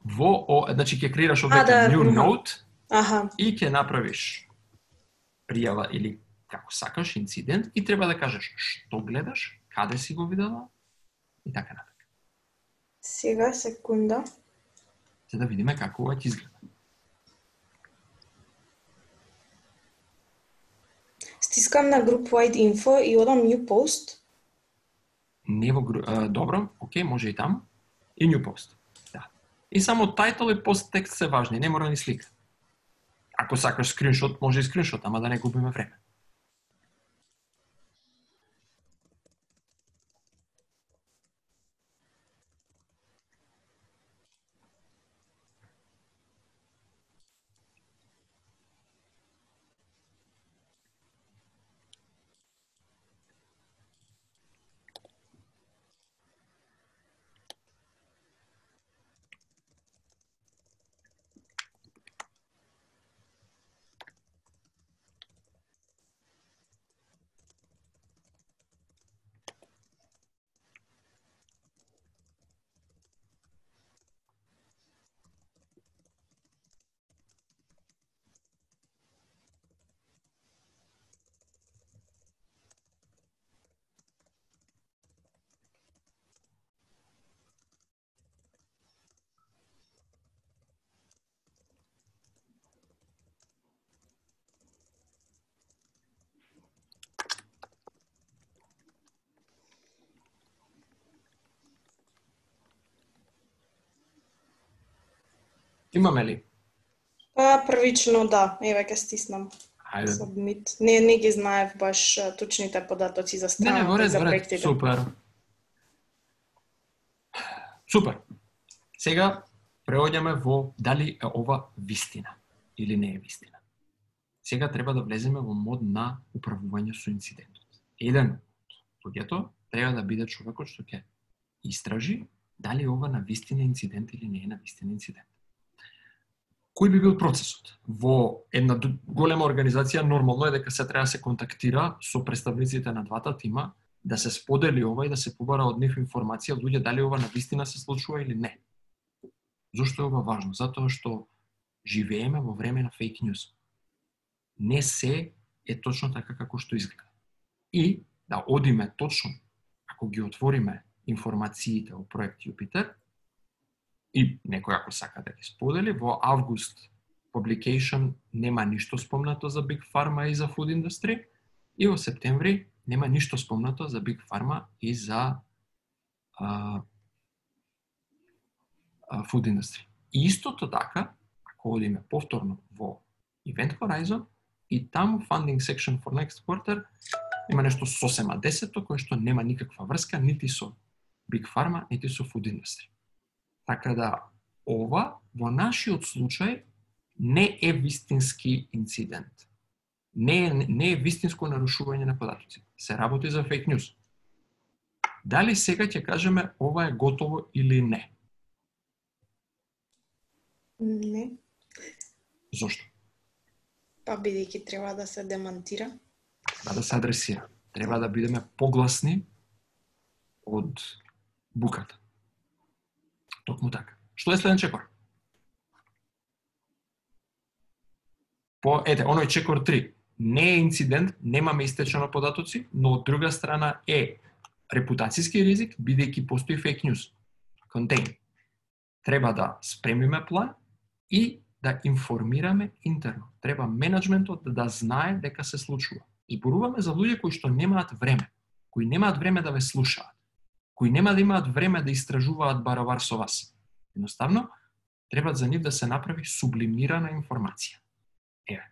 во, о, значи ќе креираш А, овдека да, new мха. note Аха, и ќе направиш пријава или како сакаш, инцидент и треба да кажеш што гледаш, каде си го видела и така натаму. сега секунда. За да видиме како ова ќе изгледа. Стискам на груп Wide Info и одам New Post. Не во гру... а, добро, окей, може и таму. И new post. Да. И само title и post текст се важни, не мора ни слика. Ако сакаш скриншот, може и скриншот, ама да не губиме време. Имаме ли? Па првично да, еве ќе стиснам. Ајде. Submit. Не, не ги знаев баш а, точните податоци за Не, не, страната во и ред, за во ред. проектите. Супер. Супер. Сега преоѓаме во дали е ова вистина или не е вистина. Сега треба да влеземе во мод на управување со инцидентот. Еден од луѓето треба да биде човекот што ќе истражи дали ова на вистина инцидент или не е на вистина инцидент. кој би бил процесот? Во една голема организација нормално е дека се треба да се контактира со представниците на двата тима, да се сподели ова и да се побара од нив информација од луѓе дали ова навистина се случува или не. Зошто е ова важно? Затоа што живееме во време на фейк ньюс. Не се е точно така како што изгледа. И да одиме точно, ако ги отвориме информациите о проект Jupiter, и некој ако сака да ги сподели, во август publication нема ништо спомнато за Big Pharma и за Food Industry, и во септември нема ништо спомнато за Big Pharma и за а, а, Food Industry. И истото така, ако одиме повторно во Event Horizon, и таму Funding Section for Next Quarter има нешто сосема десето, кое што нема никаква врска нити со Big Pharma, нити со Food Industry. Така да, ова во нашиот случај не е вистински инцидент. Не е, не е вистинско нарушување на податоци. Се работи за фейк ньюс. Дали сега ќе кажеме ова е готово или не? Не. Зошто? Па бидејќи треба да се демантира. Треба да се адресира. Треба да бидеме погласни од буката. Токму така. Што е следен чекор? По, ете, оној чекор три. Не е инцидент, немаме истечено податоци, но од друга страна е репутацијски ризик, бидејќи постои фейк ньюс. Contain. Треба да спремиме план и да информираме интерно. Треба менеджментот да знае дека се случува. Зборуваме за луѓе кои што немаат време, кои немаат време да ве слушаат, кои нема да имаат време да истражуваат баровар со вас. Едноставно, треба за нив да се направи сублимирана информација. Еве,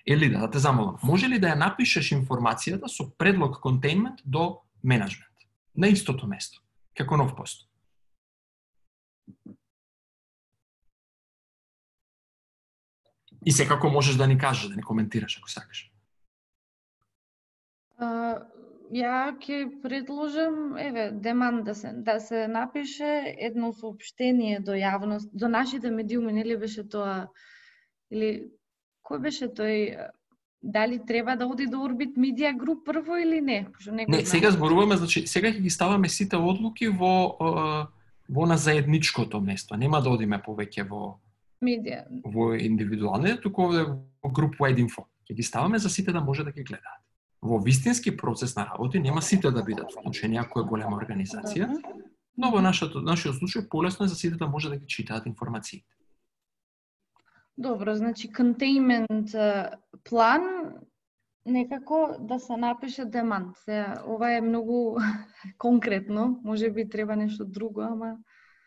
Елида, да те замолам, може ли да ја напишеш информацијата со предлог контейнмент до менеджмент, на истото место, како нов пост? И секако можеш да ни кажеш, да ни коментираш ако сакаш. А, ја ќе предложам, еве, деман да се да се напише едно соопштение до јавност, до нашите медиуми, нели беше тоа, или кој беше тој, дали треба да оди до Orbit Media Group прво или не? Не, не сега зборуваме, значи сега ќе ги ставаме сите одлуки во во на заедничкото место. Нема да одиме повеќе во медија, во индивидуални, туку овде во group wide info. Ќе ги ставаме за сите да може да ги гледаат. Во вистински процес на работи нема сите да бидат вклучени ако е голема организација, но во нашето нашиот случај полесно е за сите да може да ги читаат информациите. Добро, значи containment план некако да се напише демант. Ова е многу конкретно, може би треба нешто друго, ама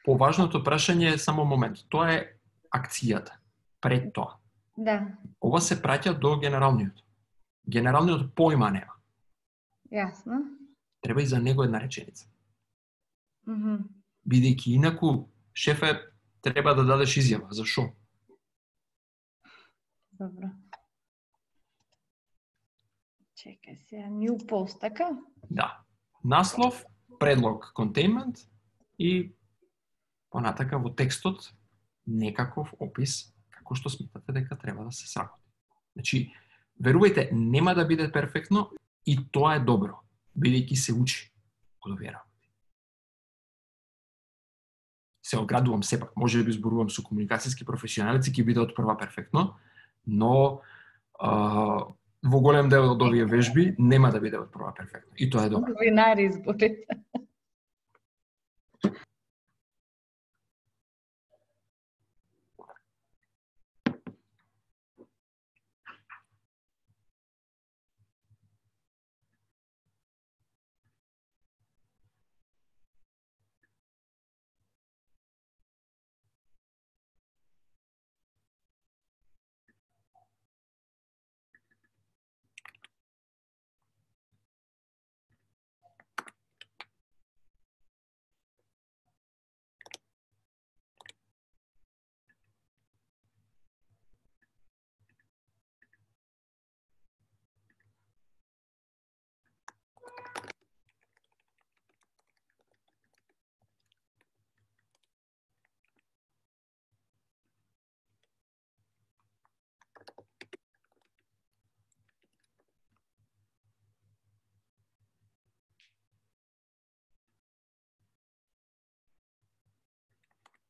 Поважното прашање е само момент. Тоа е акцијата. Пред тоа. да. Ова се праќа до генералниот. Генералниот појма нема. Јасно. Треба и за него една реченица. Мгм. Бидејќи инаку шефе треба да дадеш изјава. Зашо? Добро. Чекај сега, new post, така? Да. Наслов, предлог containment и понатака во текстот некаков опис како што сметате дека треба да се сработи. Значи, верувајте, нема да биде перфектно и тоа е добро, бидејќи се учи од овие работи. Се оградувам сепак, може би зборувам со комуникацијски професионалици, ќе биде од прва перфектно, но а, во голем дел од овие вежби нема да биде од прва перфектно. И тоа е добро. Новинари зборите.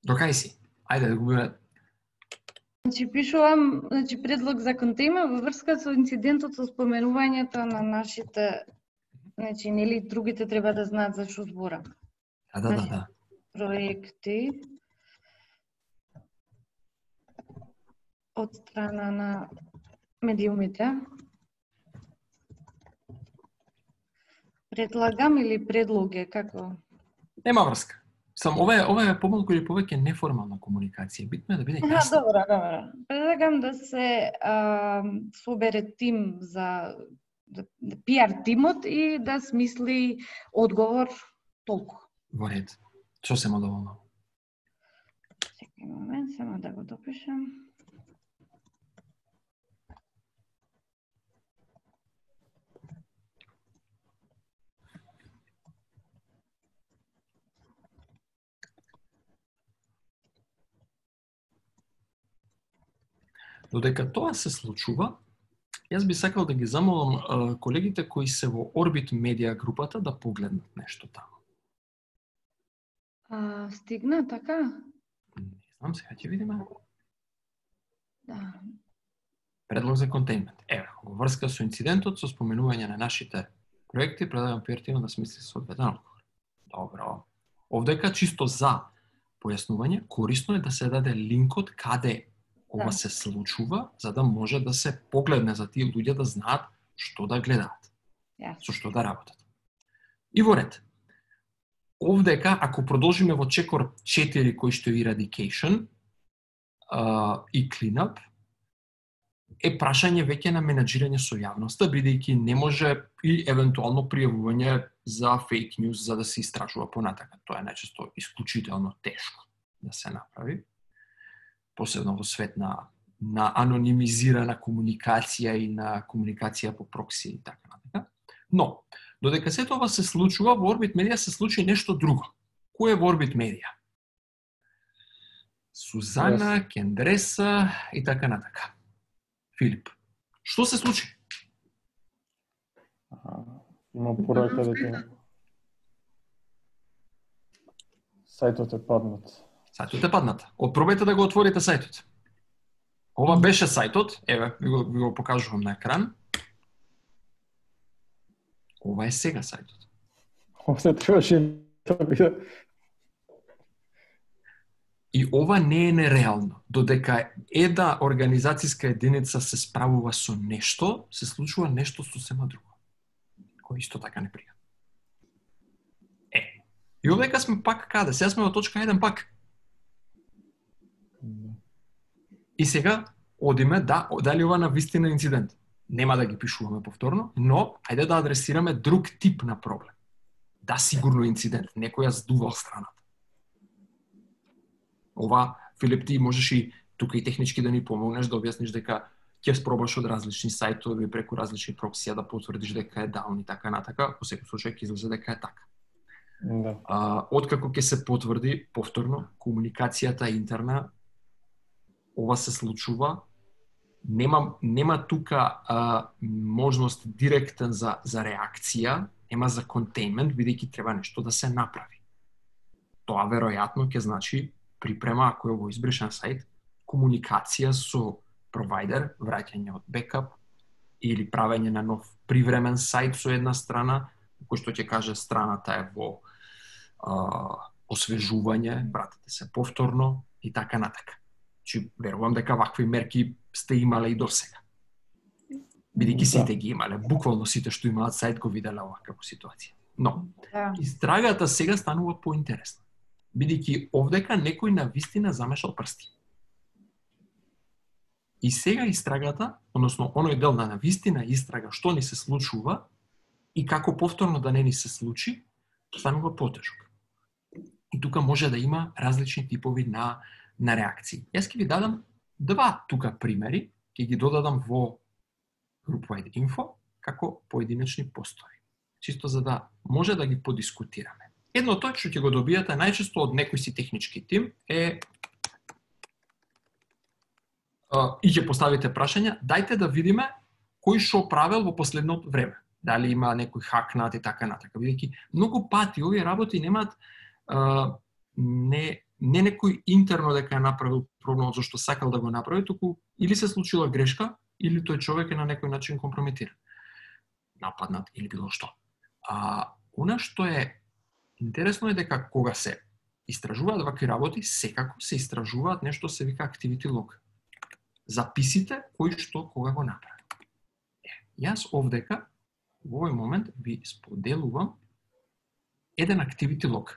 Докај си? Ајде да го биме. Значи, пишувам, значи, предлог за контейнер во врска со инцидентот со споменувањето на нашите, значи, нели другите треба да знаат за што зборам. Да, да, да, да. Проекти од страна на медиумите. Предлагам или предлоге, како? Нема врска. Сам ова е ова е помалку или повеќе неформална комуникација. Битно е да биде Аха, јасно. добро, добро. Предлагам да се а, собере тим за да, да, пи ар тимот и да смисли одговор толку. Во ред. Сосема доволно. Чекај момент, само да го допишам. Додека тоа се случува, јас би сакал да ги замолам а, колегите кои се во Orbit Media групата да погледнат нешто таму. А, стигна, така? Не знам, сега ќе видиме. Да. Предлог за контейнмент. Еве, во врска со инцидентот со споменување на нашите проекти, предлагам пи ар тимот да смисли соодветен одговор. Добро. Овдека чисто за појаснување, корисно е да се даде линкот каде ова Да. се случува, за да може да се погледне за тие луѓе да знаат што да гледаат, Јасно. со што да работат. И во ред. Овдека, ако продолжиме во чекор четири кој што е eradication uh, и cleanup, е прашање веќе на менаџирање со јавноста, бидејќи не може и евентуално пријавување за фейк ньюс за да се истражува понатака. Тоа е најчесто исклучително тешко да се направи. Посебно во свет на, на анонимизирана комуникација и на комуникација по прокси и така натака. Но, додека сето ова се случува, во Orbit Media се случи нешто друго. Кој е во Orbit Media? Сузана, yes. Кендреса и така натака. Филип, што се случи? А, има порака дека сајтот е паднат. Сајтот е паднат. Опробајте да го отворите сајтот. Ова беше сајтот, еве, ви го, ви го покажувам на екран. Ова е сега сајтот. Овде требаше да биде. И ова не е нереално. Додека една организацијска единица се справува со нешто, се случува нешто сосема друго. Кој исто така не прија. Е, и овдека сме пак каде? Сега сме во точка еден пак. И сега одиме да, дали ова на вистина инцидент. Нема да ги пишуваме повторно, но ајде да адресираме друг тип на проблем. Да, сигурно инцидент, некој ја здувал страната. Ова, Филип, ти можеш и тука и технички да ни помогнеш да објасниш дека ќе спробаш од различни сајтови преку различни проксија да потврдиш дека е даун и така натака, во секој случај ќе излезе дека е така. Да. А, откако ќе се потврди повторно комуникацијата интерна, ова се случува, нема нема тука а, можност директен за за реакција, нема за контейнмент, бидејќи треба нешто да се направи. Тоа веројатно ќе значи припрема, ако е во избришен сајт, комуникација со провайдер, враќање од бекап или правење на нов привремен сајт со една страна, кој што ќе каже страната е во а, освежување, пратете се повторно и така натака. Чи верувам дека вакви мерки сте имале и досега. Бидејќи сите ги имале, буквално сите што имаат сајт го виделе оваква ситуација. Но, Да. истрагата сега станува поинтересна. Бидејќи овдека некој на вистина замешал прсти. И сега истрагата, односно оној дел на вистина истрага што ни се случува и како повторно да не ни се случи, станува потежок. И тука може да има различни типови на на реакции. Јас ќе ви дадам два тука примери, ќе ги додадам во GroupWide Info како поединечни постои. Чисто за да може да ги подискутираме. Едно тоа што ќе го добијате најчесто од некој си технички тим е а, и ќе поставите прашања, дајте да видиме кој што правел во последното време. Дали има некој хакнат и така натака. Бидејќи многу пати овие работи немаат а, не не некој интерно дека е направил проблемот зашто сакал да го направи, туку или се случила грешка, или тој човек е на некој начин компрометиран, нападнат или било што. А она што е интересно е дека кога се истражуваат вакви работи, секако се истражуваат нешто се вика activity log. Записите кој што кога го направи. Е, јас овдека во овој момент ви споделувам еден activity log.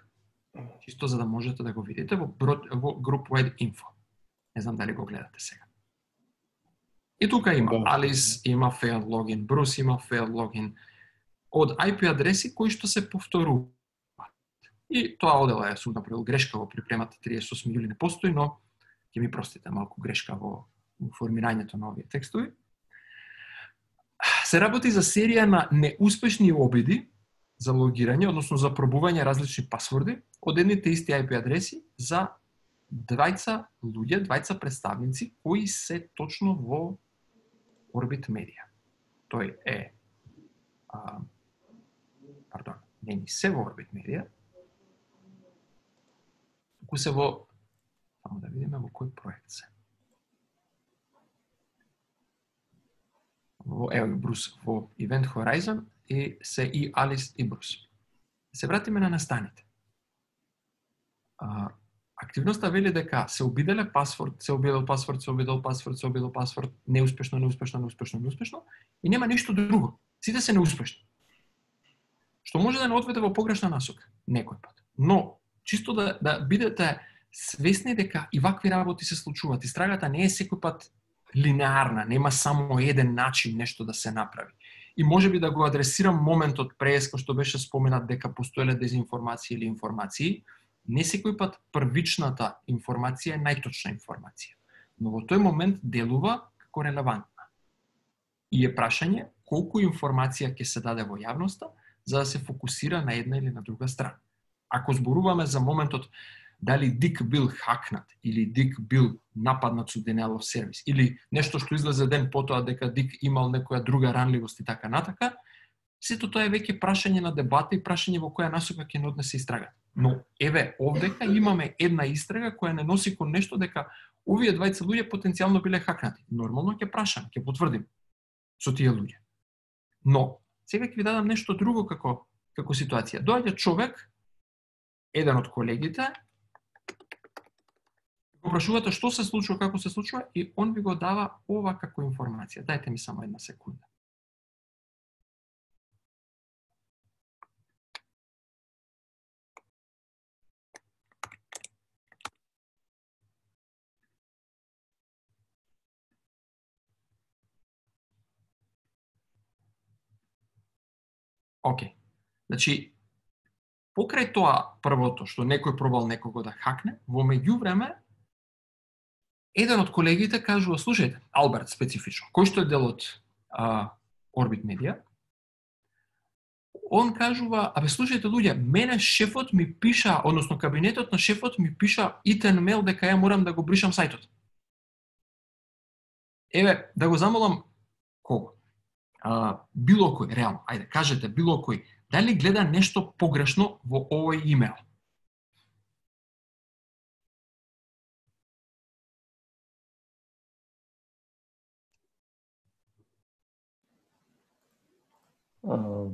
Чисто за да можете да го видите во, во Group Wide Info. Не знам дали го гледате сега. И тука има да. Алис, има failed login, Брус има failed login, од ай пи адреси кои што се повторуваат. И тоа одела е, сум направил грешка во припремата триесет и осми јули не постои, но ќе ми простите малку грешка во, во формирањето на овие текстови. Се работи за серија на неуспешни обиди за логирање, односно за пробување различни пасворди од едните исти ай пи адреси за двајца луѓе, двајца представници кои се точно во Orbit Media. Тој е а, пардон, не ни се во Orbit Media, туку се во, само да видиме во кој проект се. Во, ево Брус, во Event Horizon и се и Алис и Брус. Се вратиме на настаните. А, активноста вели дека се обиделе пасворд, се обидел пасворд, се обидел пасворд, се обидел пасворд, неуспешно, неуспешно, неуспешно, неуспешно, и нема ништо друго. Сите се неуспешни. Што може да не одведе во погрешна насока некој пат. Но чисто да да бидете свесни дека и вакви работи се случуваат. Истрагата не е секој пат линеарна, нема само еден начин нешто да се направи. И можеби да го адресирам моментот прес кој што беше споменат дека постоеле дезинформации или информации, не секој пат првичната информација е најточна информација, но во тој момент делува како релевантна. И е прашање колку информација ќе се даде во јавноста за да се фокусира на една или на друга страна. Ако зборуваме за моментот дали Дик бил хакнат или Дик бил нападнат со denial of service или нешто што излезе ден потоа дека Дик имал некоја друга ранливост и така натака, сето тоа е веќе прашање на дебата и прашање во која насока ќе не однесе истрагата. Но еве овдека имаме една истрага која не носи кон нешто дека овие двајца луѓе потенцијално биле хакнати. Нормално ќе прашам, ќе потврдим со тие луѓе. Но сега ќе ви дадам нешто друго како како ситуација. Доаѓа човек, еден од колегите, го прашувате што се случува, како се случува и он ви го дава ова како информација. Дајте ми само една секунда. Океј. Значи, покрај тоа првото што некој пробал некого да хакне, во меѓувреме еден од колегите кажува, слушајте, Алберт специфично, кој што е дел од а, Orbit Media, он кажува, абе слушајте луѓе, мене шефот ми пиша, односно кабинетот на шефот ми пиша итен мейл дека ја морам да го бришам сајтот. Еве, да го замолам кого? А, било кој, реално, ајде, кажете било кој, дали гледа нешто погрешно во овој имейл? Uh,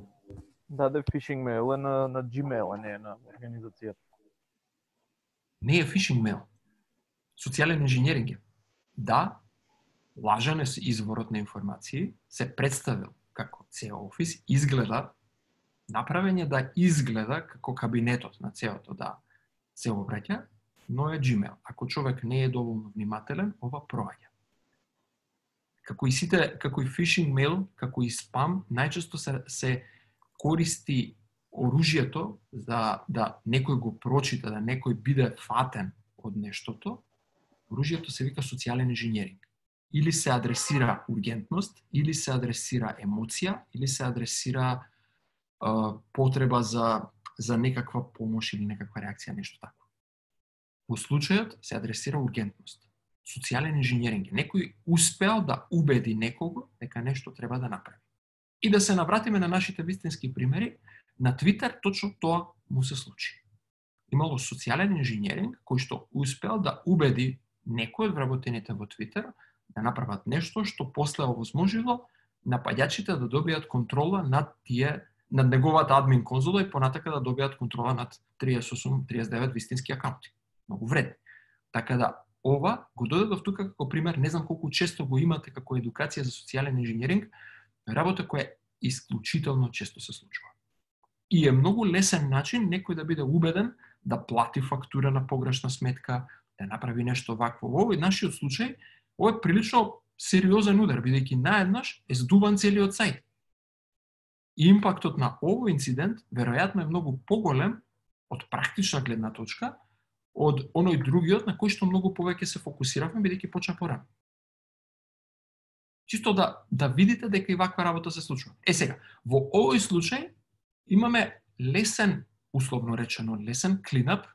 даде фишинг мейл е на, на Gmail, а не е на организацијата. Не е фишинг мейл. Социјален инженеринг е. Да, лажен е изворот на информации, се представил како C E O Office, изгледа, направен е да изгледа како кабинетот на C E O-то да се обраќа, но е Gmail. Ако човек не е доволно внимателен, ова проаѓа. Како и сите, како и фишинг мейл, како и спам, најчесто се, се користи оружјето за да некој го прочита, да некој биде фатен од нештото. Оружјето се вика социјален инженеринг. Или се адресира ургентност, или се адресира емоција, или се адресира а, потреба за, за некаква помош или некаква реакција, нешто тако. Во случајот се адресира ургентност. Социјален инженеринг. Некој успеал да убеди некого дека нешто треба да направи. И да се навратиме на нашите вистински примери, на Твитер точно тоа му се случи. имало социјален инженеринг кој што успеал да убеди некој од вработените во Твитер да направат нешто што после овозможило напаѓачите да добијат контрола над тие над неговата админ конзола и понатака да добијат контрола над триесет и осум триесет и девет вистински акаунти. Многу вредни. Така да ова го додадов тука како пример, не знам колку често го имате како едукација за социјален инженеринг, работа која исклучително често се случува. И е многу лесен начин некој да биде убеден да плати фактура на погрешна сметка, да направи нешто вакво. Во овој нашиот случај, ова е прилично сериозен удар, бидејќи наеднаш е здуван целиот сајт. И импактот на овој инцидент веројатно е многу поголем од практична гледна точка од оној другиот на кој што многу повеќе се фокусиравме бидејќи почна порано. Чисто да да видите дека и ваква работа се случува. Е сега, во овој случај имаме лесен, условно речено, лесен клинап,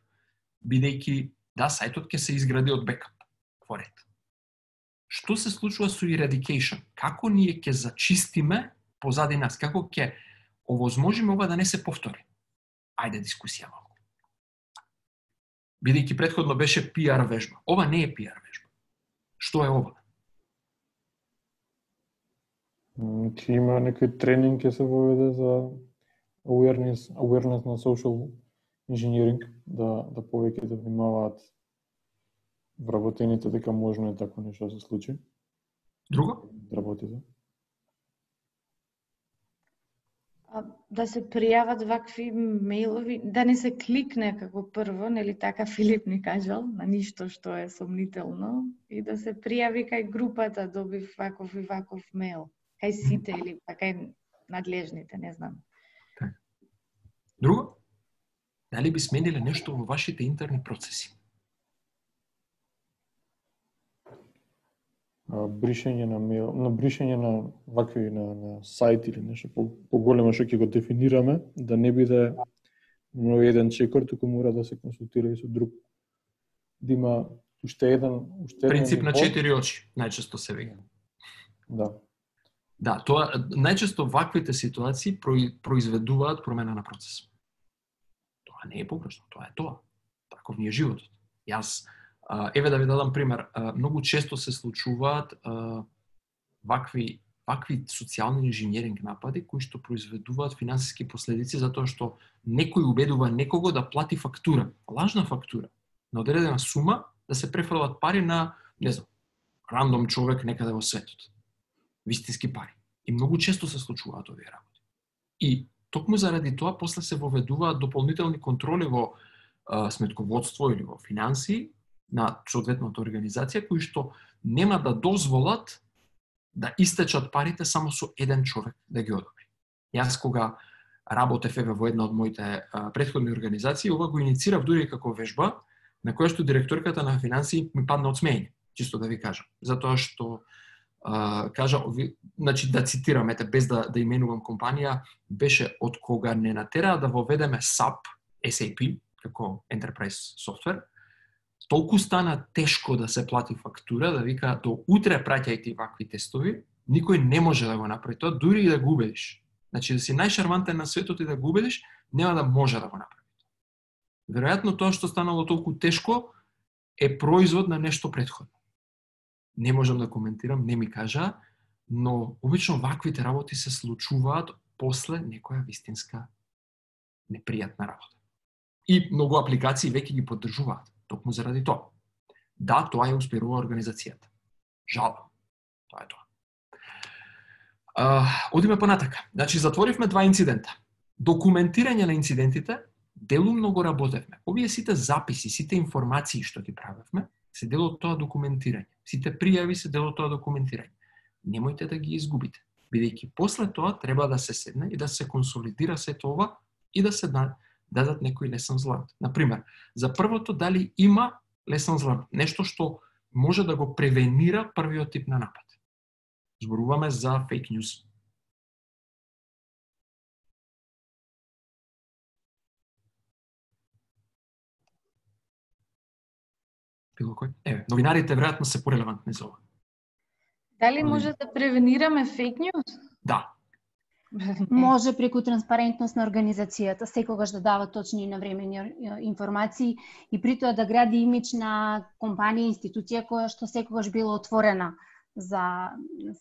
бидејќи да, сајтот ќе се изгради од бекап во ред. Што се случува со eradication? Како ние ќе зачистиме позади нас? Како ќе овозможиме ова да не се повтори? Ајде дискусија малку. Бидејќи претходно беше пи ар вежба. Ова не е пи ар вежба. Што е ова? Ќе има некој тренинг ќе се воведе за awareness, awareness на social engineering, да, да повеќе да внимаваат вработените дека можно е тако нешто да се случи. Друго? Работите. Да се пријават вакви мејлови, да не се кликне како прво, нели така Филип ни кажал, на ништо што е сомнително, и да се пријави кај групата, добив ваков и ваков мејл, кај сите или па кај надлежните, не знам. Друго? Дали би смениле нешто во вашите интерни процеси? Бришење на мејл, на бришење на вакви на, на сајт или нешто по, поголемо што ќе го дефинираме, да не биде но еден чекор, туку мора да се консултира и со друг. Да има уште еден, уште еден принцип на ниво. четири очи, најчесто се вика. Да. Да, тоа најчесто ваквите ситуации произведуваат промена на процес. Тоа не е погрешно, тоа е тоа. Таков ни е животот. Јас еве да ви дадам пример, многу често се случуваат вакви вакви социјални инженеринг напади кои што произведуваат финансиски последици затоа што некој убедува некого да плати фактура, лажна фактура, на одредена сума да се префрлат пари на, не знам, рандом човек некаде во светот. Вистински пари. И многу често се случуваат овие работи. И токму заради тоа после се воведуваат дополнителни контроли во а, сметководство или во финансии на соодветната организација кои што нема да дозволат да истечат парите само со еден човек да ги одобри. Јас кога работев еве во една од моите а, претходни организации, ова го иницирав дури како вежба, на која што директорката на финансии ми падна од смеење, чисто да ви кажам. Затоа што а, кажа, ви, значи да цитирам, ете, без да, да именувам компанија, беше од кога не натераа да воведеме сап, ес ей пи, како Enterprise Software, толку стана тешко да се плати фактура, да вика до утре праќајте вакви тестови, никој не може да го направи тоа, дури и да го убедиш. Значи да си најшармантен на светот и да го убедиш, нема да може да го направи тоа. Веројатно тоа што станало толку тешко е производ на нешто претходно. Не можам да коментирам, не ми кажа, но обично ваквите работи се случуваат после некоја вистинска непријатна работа. И многу апликации веќе ги поддржуваат. Токму заради тоа. Да, тоа ја успирува организацијата. Жалам. Тоа е тоа. А, одиме понатака. Значи, затворивме два инцидента. Документирање на инцидентите, делумно го работевме. Овие сите записи, сите информации што ги правевме, се дел од тоа документирање. Сите пријави се дел од тоа документирање. Немојте да ги изгубите. Бидејќи после тоа треба да се седне и да се консолидира сето ова и да се дадат некои lessons learned. Например, за првото дали има lessons learned, нешто што може да го превенира првиот тип на напад. Зборуваме за фейк ньюс. Било кој? Еве, новинарите веројатно се порелевантни за ова. Дали може да превенираме фейк ньюс? Да. Може преку транспарентност на организацијата, секогаш да дава точни и навремени информации и при тоа да гради имидж на компанија, институција која што секогаш била отворена за,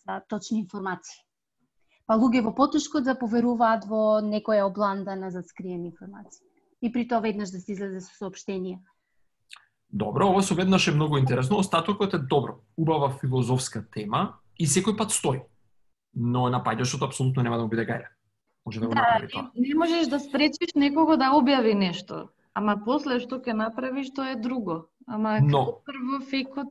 за точни информации. Па луѓе во потешко да поверуваат во некоја обландана за скриени информации. И при тоа веднаш да се излезе со соопштение. Добро, ова со веднаш е многу интересно. Остатокот е добро, убава филозофска тема и секој пат стои. Но напаѓачот апсолутно нема да му биде гајле. Може да го Да, направи тоа. не, не можеш да спречиш некого да објави нешто. Ама после што ќе направиш, тоа е друго. Ама Но прво фейкот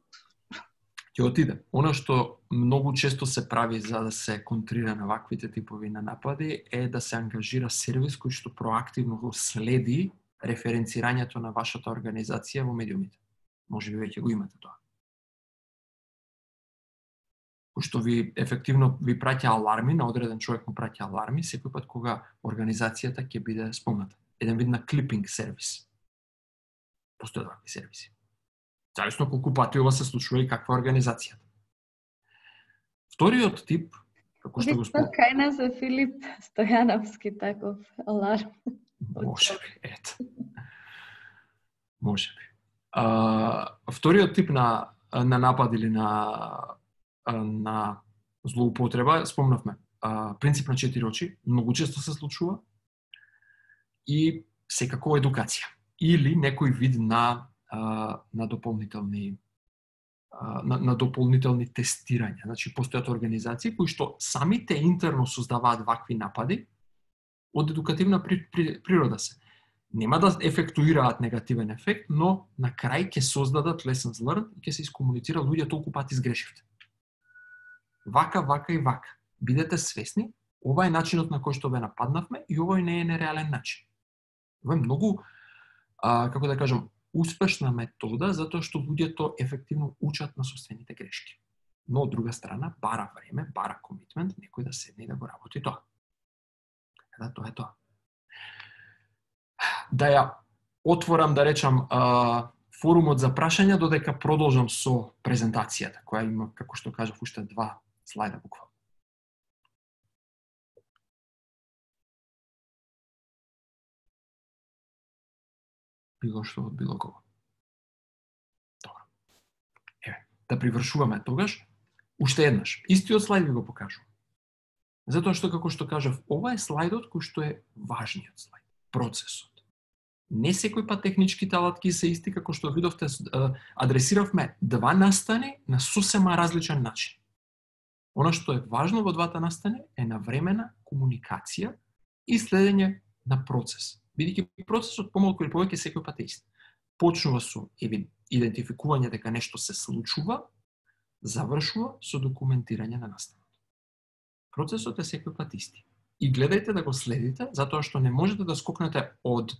ќе отиде. Она што многу често се прави за да се контрира на ваквите типови на напади е да се ангажира сервис кој што проактивно го следи референцирањето на вашата организација во медиумите. Може би веќе го имате тоа. Кој што ви ефективно ви праќа аларми, на одреден човек му праќа аларми секој пат кога организацијата ќе биде спомната. Еден вид на клипинг сервис. Постојат вакви сервиси. Зависно колку пати ова се случува и каква е организацијата. Вториот тип, како што го спомнав, кај нас е Филип Стојановски таков аларм. може би, ето. Може би. А, вториот тип на на напад или на на злоупотреба, спомнавме, а, принцип на четири очи, многу често се случува и секако едукација или некој вид на на дополнителни на, на дополнителни тестирања. Значи постојат организации кои што самите интерно создаваат вакви напади од едукативна при, при, природа се. Нема да ефектуираат негативен ефект, но на крај ќе создадат lessons learned и ќе се искомуницира луѓе толку пати сгрешивте. Вака, вака и вака. Бидете свесни, ова е начинот на кој што ве нападнавме и овој не е нереален начин. Ова е многу, а, како да кажам, успешна метода затоа што луѓето ефективно учат на собствените грешки. Но од друга страна бара време, бара комитмент, некој да седне и да го работи тоа. Да, тоа е тоа. Да ја отворам, да речам, а, форумот за прашања, додека продолжам со презентацијата, која има, како што кажав, уште два слайда буквално. Било што од било кого. Добро. Еве, да привршуваме тогаш, уште еднаш. Истиот слайд ви го покажувам. Затоа што, како што кажав, ова е слайдот кој што е важниот слайд. Процесот. Не секој пат техничките алатки се исти, како што видовте, адресиравме два настани на сосема различен начин. Оно што е важно во двата настани е навремена комуникација и следење на процес. Бидејќи процесот помалку или повеќе секој пат е ист. Почнува со идентификување дека нешто се случува, завршува со документирање на настанот. Процесот е секој пат исти. И гледајте да го следите, затоа што не можете да скокнете од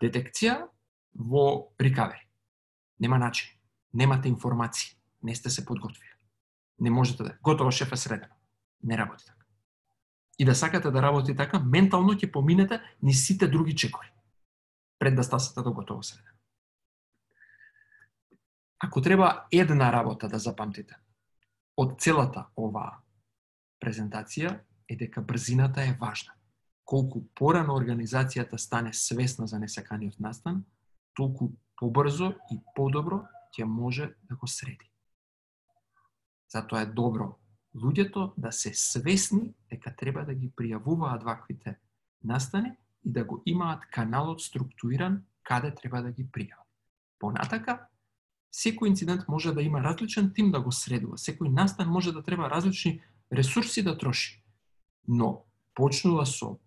детекција во рикавери. Нема начин. Немате информации. Не сте се подготвили. Не можете да... Готово, шеф е средено. Не работи така. И да сакате да работи така, ментално ќе поминете ни сите други чекори. Пред да стасате до готово средено. Ако треба една работа да запамтите од целата оваа презентација, е дека брзината е важна. Колку порано организацијата стане свесна за несаканиот настан, толку побрзо и подобро ќе може да го среди. Затоа е добро луѓето да се свесни дека треба да ги пријавуваат ваквите настани и да го имаат каналот структуриран каде треба да ги пријават. Понатака, секој инцидент може да има различен тим да го средува, секој настан може да треба различни ресурси да троши. Но почнува со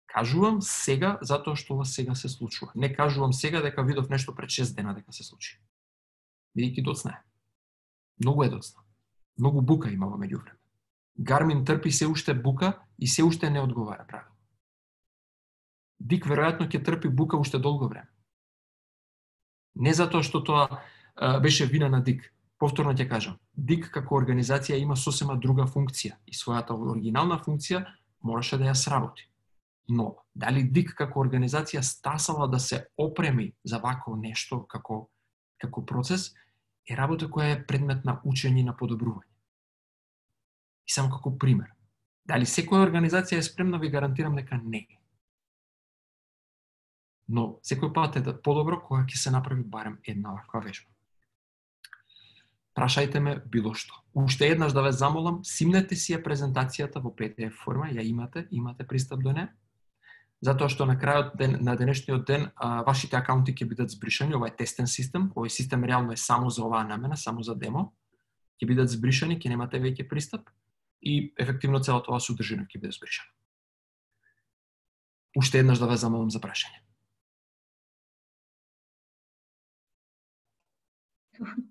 кажувам сега затоа што ова сега се случува. Не кажувам сега дека видов нешто пред шест дена дека се случи. Бидејќи доцна е. Многу е доцна. Многу бука има во меѓувреме. Гармин трпи се уште бука и се уште не одговара правилно. Дик веројатно ќе трпи бука уште долго време. Не затоа што тоа а, беше вина на Дик. Повторно ќе кажам, Дик како организација има сосема друга функција и својата оригинална функција мораше да ја сработи. Но, дали Дик како организација стасала да се опреми за вако нешто како, како процес, е работа која е предмет на учење и на подобрување. И само како пример, Дали секоја организација е спремна, ви гарантирам дека не. Но секој пат е да подобро кога ќе се направи барем една ваква вежба. Прашајте ме било што. Уште еднаш да ве замолам, симнете си ја презентацијата во пи ди еф форма, ја имате, имате пристап до неа. Затоа што на крајот ден, на денешниот ден а, вашите акаунти ќе бидат збришани, ова е тестен систем, овој систем реално е само за оваа намена, само за демо. Ќе бидат збришани, ќе немате веќе пристап и ефективно целата оваа содржина ќе биде збришана. Уште еднаш да ве замолам за прашање.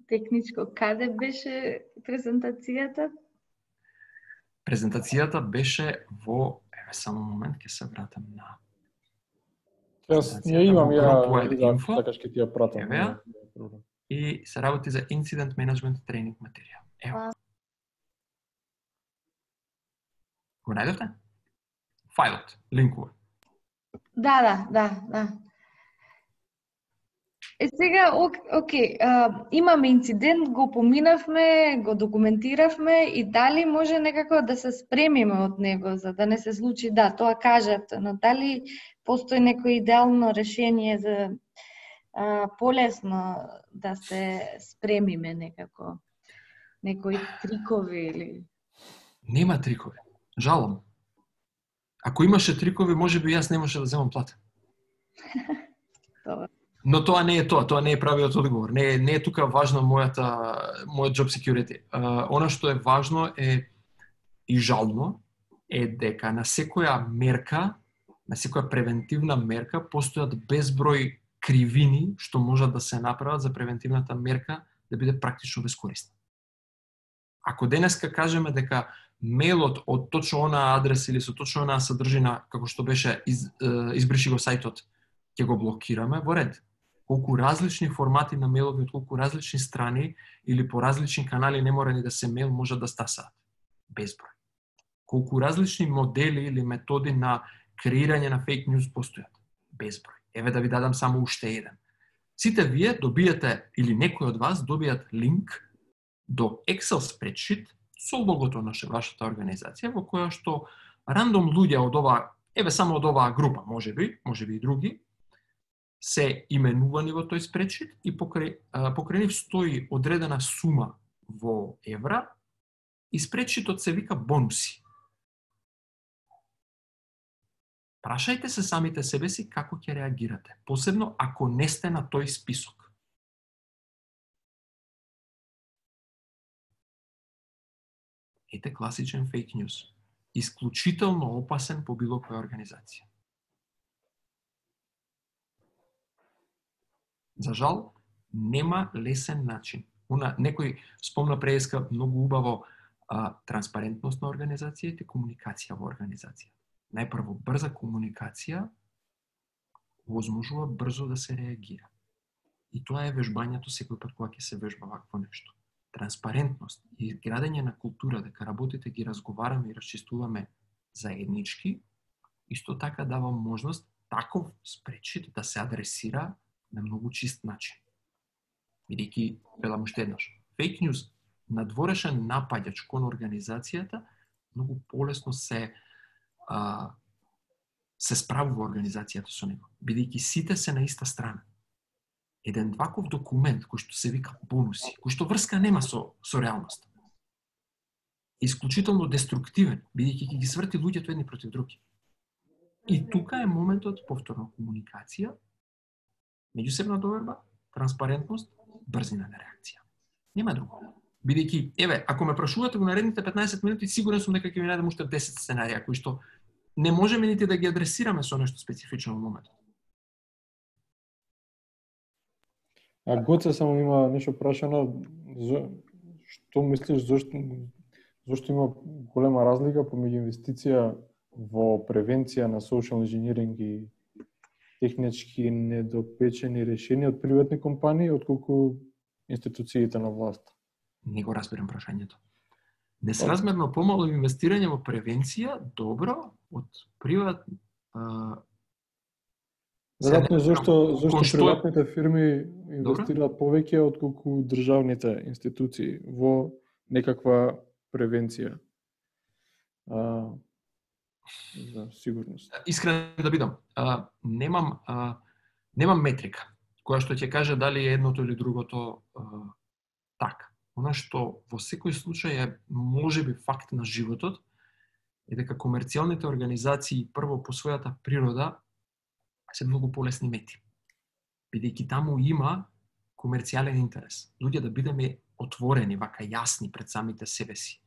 Техничко, каде беше презентацијата? Презентацијата беше во, еве само момент, ќе се вратам на Јас ја имам, ја инфо, сакаш ќе ти ја пратам. Еве ја. И се работи за Incident Management тренинг материјал. Ево. Го најдовте? Фајлот, линкува. Да, да, да, да. Е сега, ок, окей, а, имаме инцидент, го поминавме, го документиравме и дали може некако да се спремиме од него, за да не се случи, да, тоа кажат, но дали постои некој идеално решение за а, полесно да се спремиме некако, некои трикови или... Нема трикови, жалам. Ако имаше трикови, може би јас немаше да земам плата. Добро. Но тоа не е тоа, тоа не е правиот одговор. Не е, не е тука важно мојата, мојот job security. Uh, она што е важно е и жално е дека на секоја мерка, на секоја превентивна мерка постојат безброј кривини што можат да се направат за превентивната мерка да биде практично бескорисна. Ако денеска кажеме дека мејлот од точно онаа адреса или со точно онаа содржина како што беше из, избриши го сајтот, ќе го блокираме, во ред. Колку различни формати на мејлови од колку различни страни или по различни канали не мора ни да се мејл може да стасаат. Безброј. Колку различни модели или методи на креирање на фейк ньюс постојат. Безброј. Еве да ви дадам само уште еден. Сите вие добиете или некој од вас добијат линк до Excel спредшит со логото на вашата организација во која што рандом луѓе од оваа, еве само од оваа група, можеби, можеби и други, се именувани во тој спредшит и покрај, покрај нив стои одредена сума во евра и спредшитот се вика бонуси. Прашајте се самите себе си како ќе реагирате, посебно ако не сте на тој список. Ете класичен фейк ньюс. Исклучително опасен по било која организација. За жал, нема лесен начин. Она, некој спомна преска многу убаво а, транспарентност на организацијата и комуникација во организација. Најпрво, брза комуникација возможува брзо да се реагира. И тоа е вежбањето секој пат кога ќе се вежба вакво нешто. Транспарентност и градење на култура дека работите ги разговараме и расчистуваме заеднички, исто така дава можност таков спредшит да се адресира на многу чист начин. Бидејќи, велам уште еднаш, фейк ньюс, надворешен напаѓач кон организацијата, многу полесно се а, се справува организацијата со него, бидејќи сите се на иста страна. Еден ваков документ кој што се вика бонуси, кој што врска нема со, со реалност, исклучително деструктивен, бидејќи ќе ги сврти луѓето едни против други. И тука е моментот повторно комуникација, меѓусебна доверба, транспарентност, брзина на реакција. Нема друго. Бидејќи, еве, ако ме прашувате во наредните петнаесет минути, сигурен сум дека ќе ви најдам уште десет сценарија кои што не можеме нити да ги адресираме со нешто специфично во моментот. А Гоце само има нешто прашано, што мислиш зошто зошто има голема разлика помеѓу инвестиција во превенција на social engineering и технички недопечени решенија од приватни компании отколку институциите на власт? Не го разбирам прашањето. Несразмерно помало инвестирање во превенција, добро, од приват а... Веројатно зашто зашто што... приватните фирми инвестираат повеќе отколку државните институции во некаква превенција. а, за сигурност. Искрен да бидам, а, немам а, немам метрика која што ќе каже дали е едното или другото а, така. Она што во секој случај е можеби факт на животот е дека комерцијалните организации прво по својата природа се многу полесни мети. Бидејќи таму има комерцијален интерес. Луѓе да бидеме отворени, вака јасни пред самите себе си.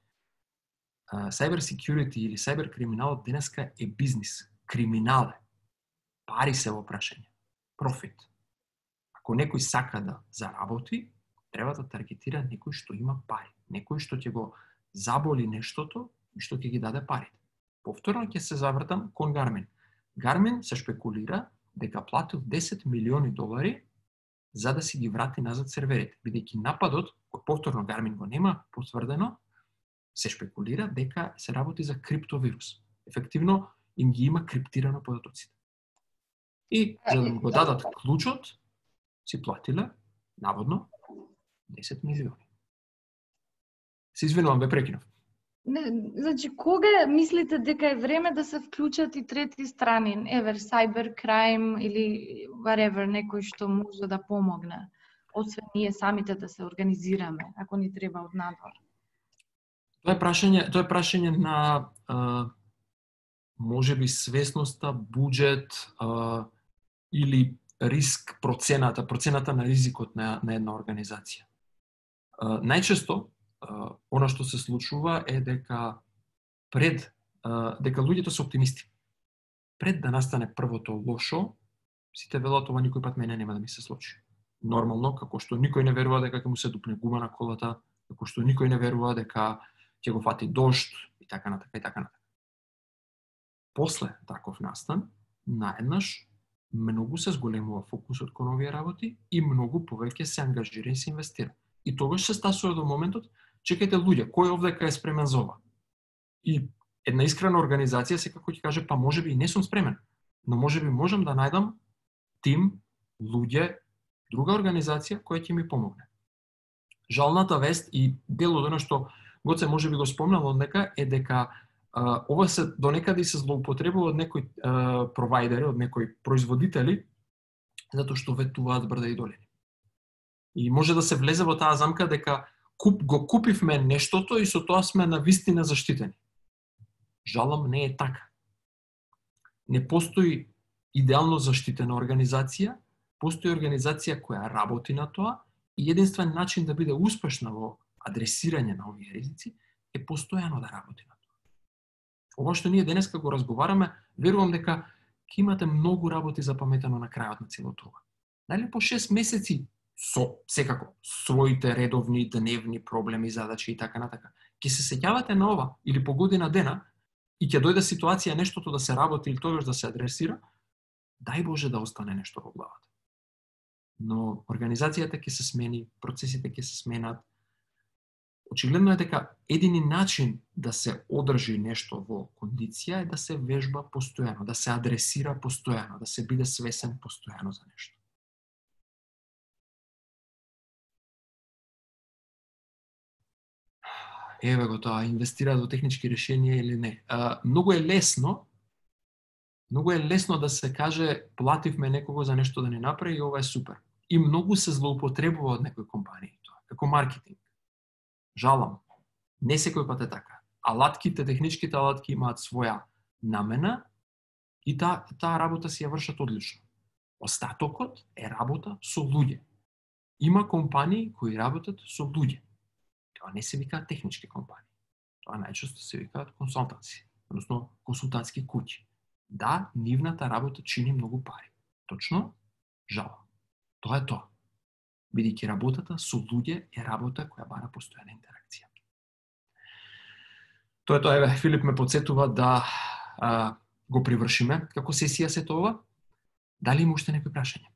Uh, cyber security или cyber криминалот денеска е бизнис, криминал е. Пари се во прашање, профит. Ако некој сака да заработи, треба да таргетира некој што има пари, некој што ќе го заболи нештото и што ќе ги даде парите. Повторно ќе се завртам кон Гармин. Гармин се шпекулира дека платил десет милиони долари за да си ги врати назад серверите, бидејќи нападот, кој повторно Гармин го нема потврдено, се шпекулира дека се работи за криптовирус. Ефективно им ги има криптирано податоците. И за да го дадат клучот, си платиле, наводно, десет милиони. Се извинувам, бе прекинав. Не, значи, кога мислите дека е време да се вклучат и трети страни, евер, cybercrime или whatever, некој што може да помогне, освен ние самите да се организираме, ако ни треба од надвор? Тоа е прашање, тоа е прашање на а, можеби свесноста, буџет а, или риск процената, процената на ризикот на, на една организација. А, најчесто Uh, она што се случува е дека пред uh, дека луѓето се оптимисти. Пред да настане првото лошо, сите велат ова никој пат мене нема да ми се случи. Нормално, како што никој не верува дека ќе му се дупне гума на колата, како што никој не верува дека ќе го фати дожд и така натака и така натака. После таков настан, наеднаш многу се зголемува фокусот кон овие работи и многу повеќе се ангажира и се инвестира. И тогаш се стасува до моментот, чекајте луѓе, кој овдека е спремен за ова? И една искрена организација секако ќе каже, па можеби и не сум спремен, но можеби можам да најдам тим, луѓе, друга организација која ќе ми помогне. Жалната вест и дел од оно што Гоце можеби го спомнал однека е дека а, ова се до некаде се злоупотребува од некои а, провайдери, од некои производители, затоа што ветуваат брда и долини. И може да се влезе во таа замка дека куп, го купивме нештото и со тоа сме на вистина заштитени. Жалам, не е така. Не постои идеално заштитена организација, постои организација која работи на тоа и единствен начин да биде успешна во адресирање на овие ризици е постојано да работи на тоа. Ова што ние денеска го разговараме, верувам дека ќе имате многу работи запаметено на крајот на целото ова. Дали по шест месеци со, секако, своите редовни, дневни проблеми, задачи и така натака. Ке се сеќавате на ова, или по година дена, и ќе дојде ситуација нештото да се работи или тогаш да се адресира, дај Боже да остане нешто во главата. Но организацијата ќе се смени, процесите ќе се сменат. Очигледно е дека едини начин да се одржи нешто во кондиција е да се вежба постојано, да се адресира постојано, да се биде свесен постојано за нешто. Еве го тоа, инвестираат во технички решенија или не. А, многу е лесно, многу е лесно да се каже плативме некого за нешто да не направи и ова е супер. И многу се злоупотребува од некои компании тоа, како маркетинг. Жалам, не секој пат е така. Алатките, техничките алатки имаат своја намена и таа та работа си ја вршат одлично. Остатокот е работа со луѓе. Има компании кои работат со луѓе. Тоа не се викаат технички компании. Тоа најчесто се викаат консултанци, односно консултантски куќи. Да, нивната работа чини многу пари. Точно? Жалам. Тоа е тоа. Бидејќи работата со луѓе е работа која бара постојана интеракција. Тоа е тоа, еве, Филип ме подсетува да а, го привршиме како сесија сето ова. Дали има уште некои прашања?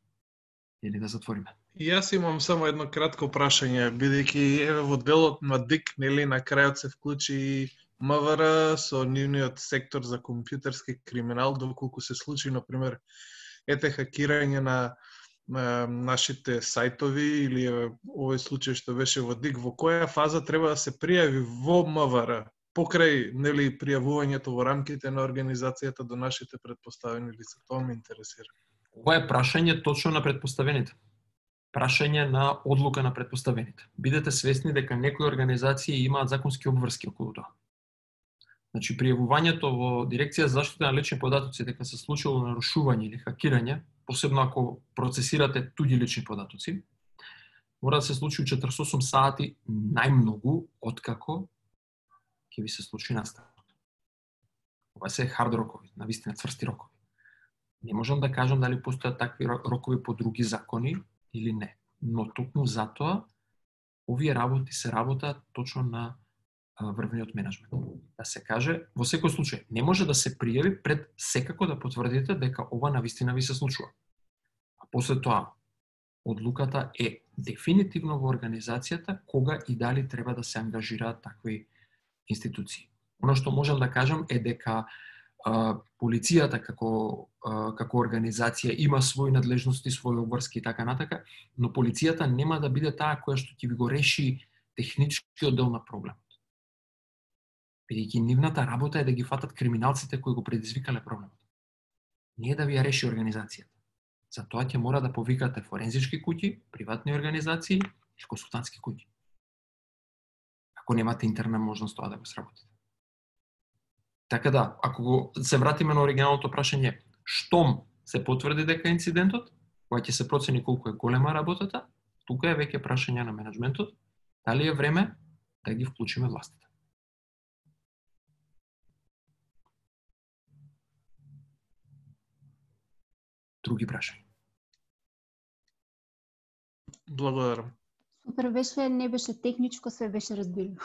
Или да затвориме? И јас имам само едно кратко прашање, бидејќи еве во делот на ДИК, нели, на крајот се вклучи МВР со нивниот сектор за компјутерски криминал, доколку се случи, например, ете хакирање на, на нашите сајтови или овој случај што беше во ДИК, во која фаза треба да се пријави во МВР покрај нели пријавувањето во рамките на организацијата до нашите претпоставени лица. Тоа ме интересира. Ова е прашање точно на претпоставените. Прашање на одлука на претпоставените. Бидете свесни дека некои организации имаат законски обврски околу тоа. Значи, пријавувањето во Дирекција за заштита на лични податоци дека се случило нарушување или хакирање, посебно ако процесирате туѓи лични податоци, мора да се случи у четридесет и осум сати најмногу откако ќе ви се случи настанот. Ова се хард рокови, навистина цврсти рокови. Не можам да кажам дали постојат такви рокови по други закони или не, но токму затоа овие работи се работа точно на врвниот менеджмент. Да се каже, во секој случај, не може да се пријави пред секако да потврдите дека ова навистина ви се случува. А после тоа, одлуката е дефинитивно во организацијата кога и дали треба да се ангажираат такви институции. Оно што можам да кажам е дека а, полицијата како, а, како организација има своји надлежности, своји обврски и така натака, но полицијата нема да биде таа која што ќе ви го реши техничкиот дел на проблемот. Бидејќи нивната работа е да ги фатат криминалците кои го предизвикале проблемот. Не е да ви ја реши организацијата. Затоа ќе мора да повикате форензички куќи, приватни организации и консултантски куќи. Ако немате интерна можност тоа да го сработите. Така да, ако го се вратиме на оригиналното прашање, штом се потврди дека инцидентот, кога ќе се процени колку е голема работата, тука е веќе прашање на менеджментот, дали е време да ги вклучиме властите. Други прашања. Благодарам. Супер беше, не беше техничко, све беше разбирливо.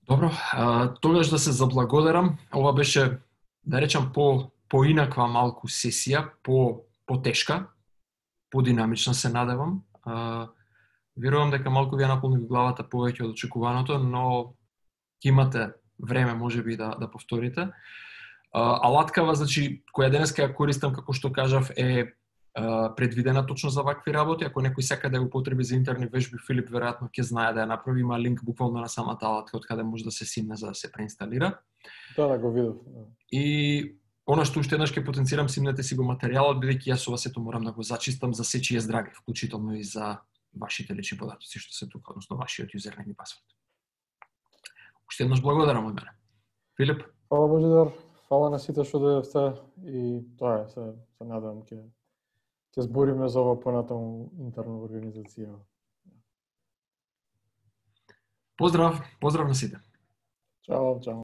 Добро, а, тогаш да се заблагодарам. Ова беше, да речам, по поинаква малку сесија, по потешка, подинамична се надевам. А, верувам дека малку ви ја наполни главата повеќе од очекуваното, но ќе имате време можеби да да повторите. А, алаткава, значи, која денеска ја користам, како што кажав, е предвидена точно за вакви работи. Ако некој сака да ја употреби за интерни вежби, Филип веројатно ќе знае да ја направи. Има линк буквално на самата алатка од каде може да се симне за да се преинсталира. Да, да го видов. И она што уште еднаш ќе потенцирам, симнете си го материјалот, бидејќи јас ова сето морам да го зачистам за сечие здравје, вклучително и за вашите лични податоци што се тука, односно вашиот юзернейм и пасворд. Уште еднаш благодарам од мене. Филип. Фала Божидар, фала на сите што дојдовте и тоа е, се, се надевам ќе ќе збориме за ова понатаму интерна организација. Поздрав, поздрав на сите. Чао, чао.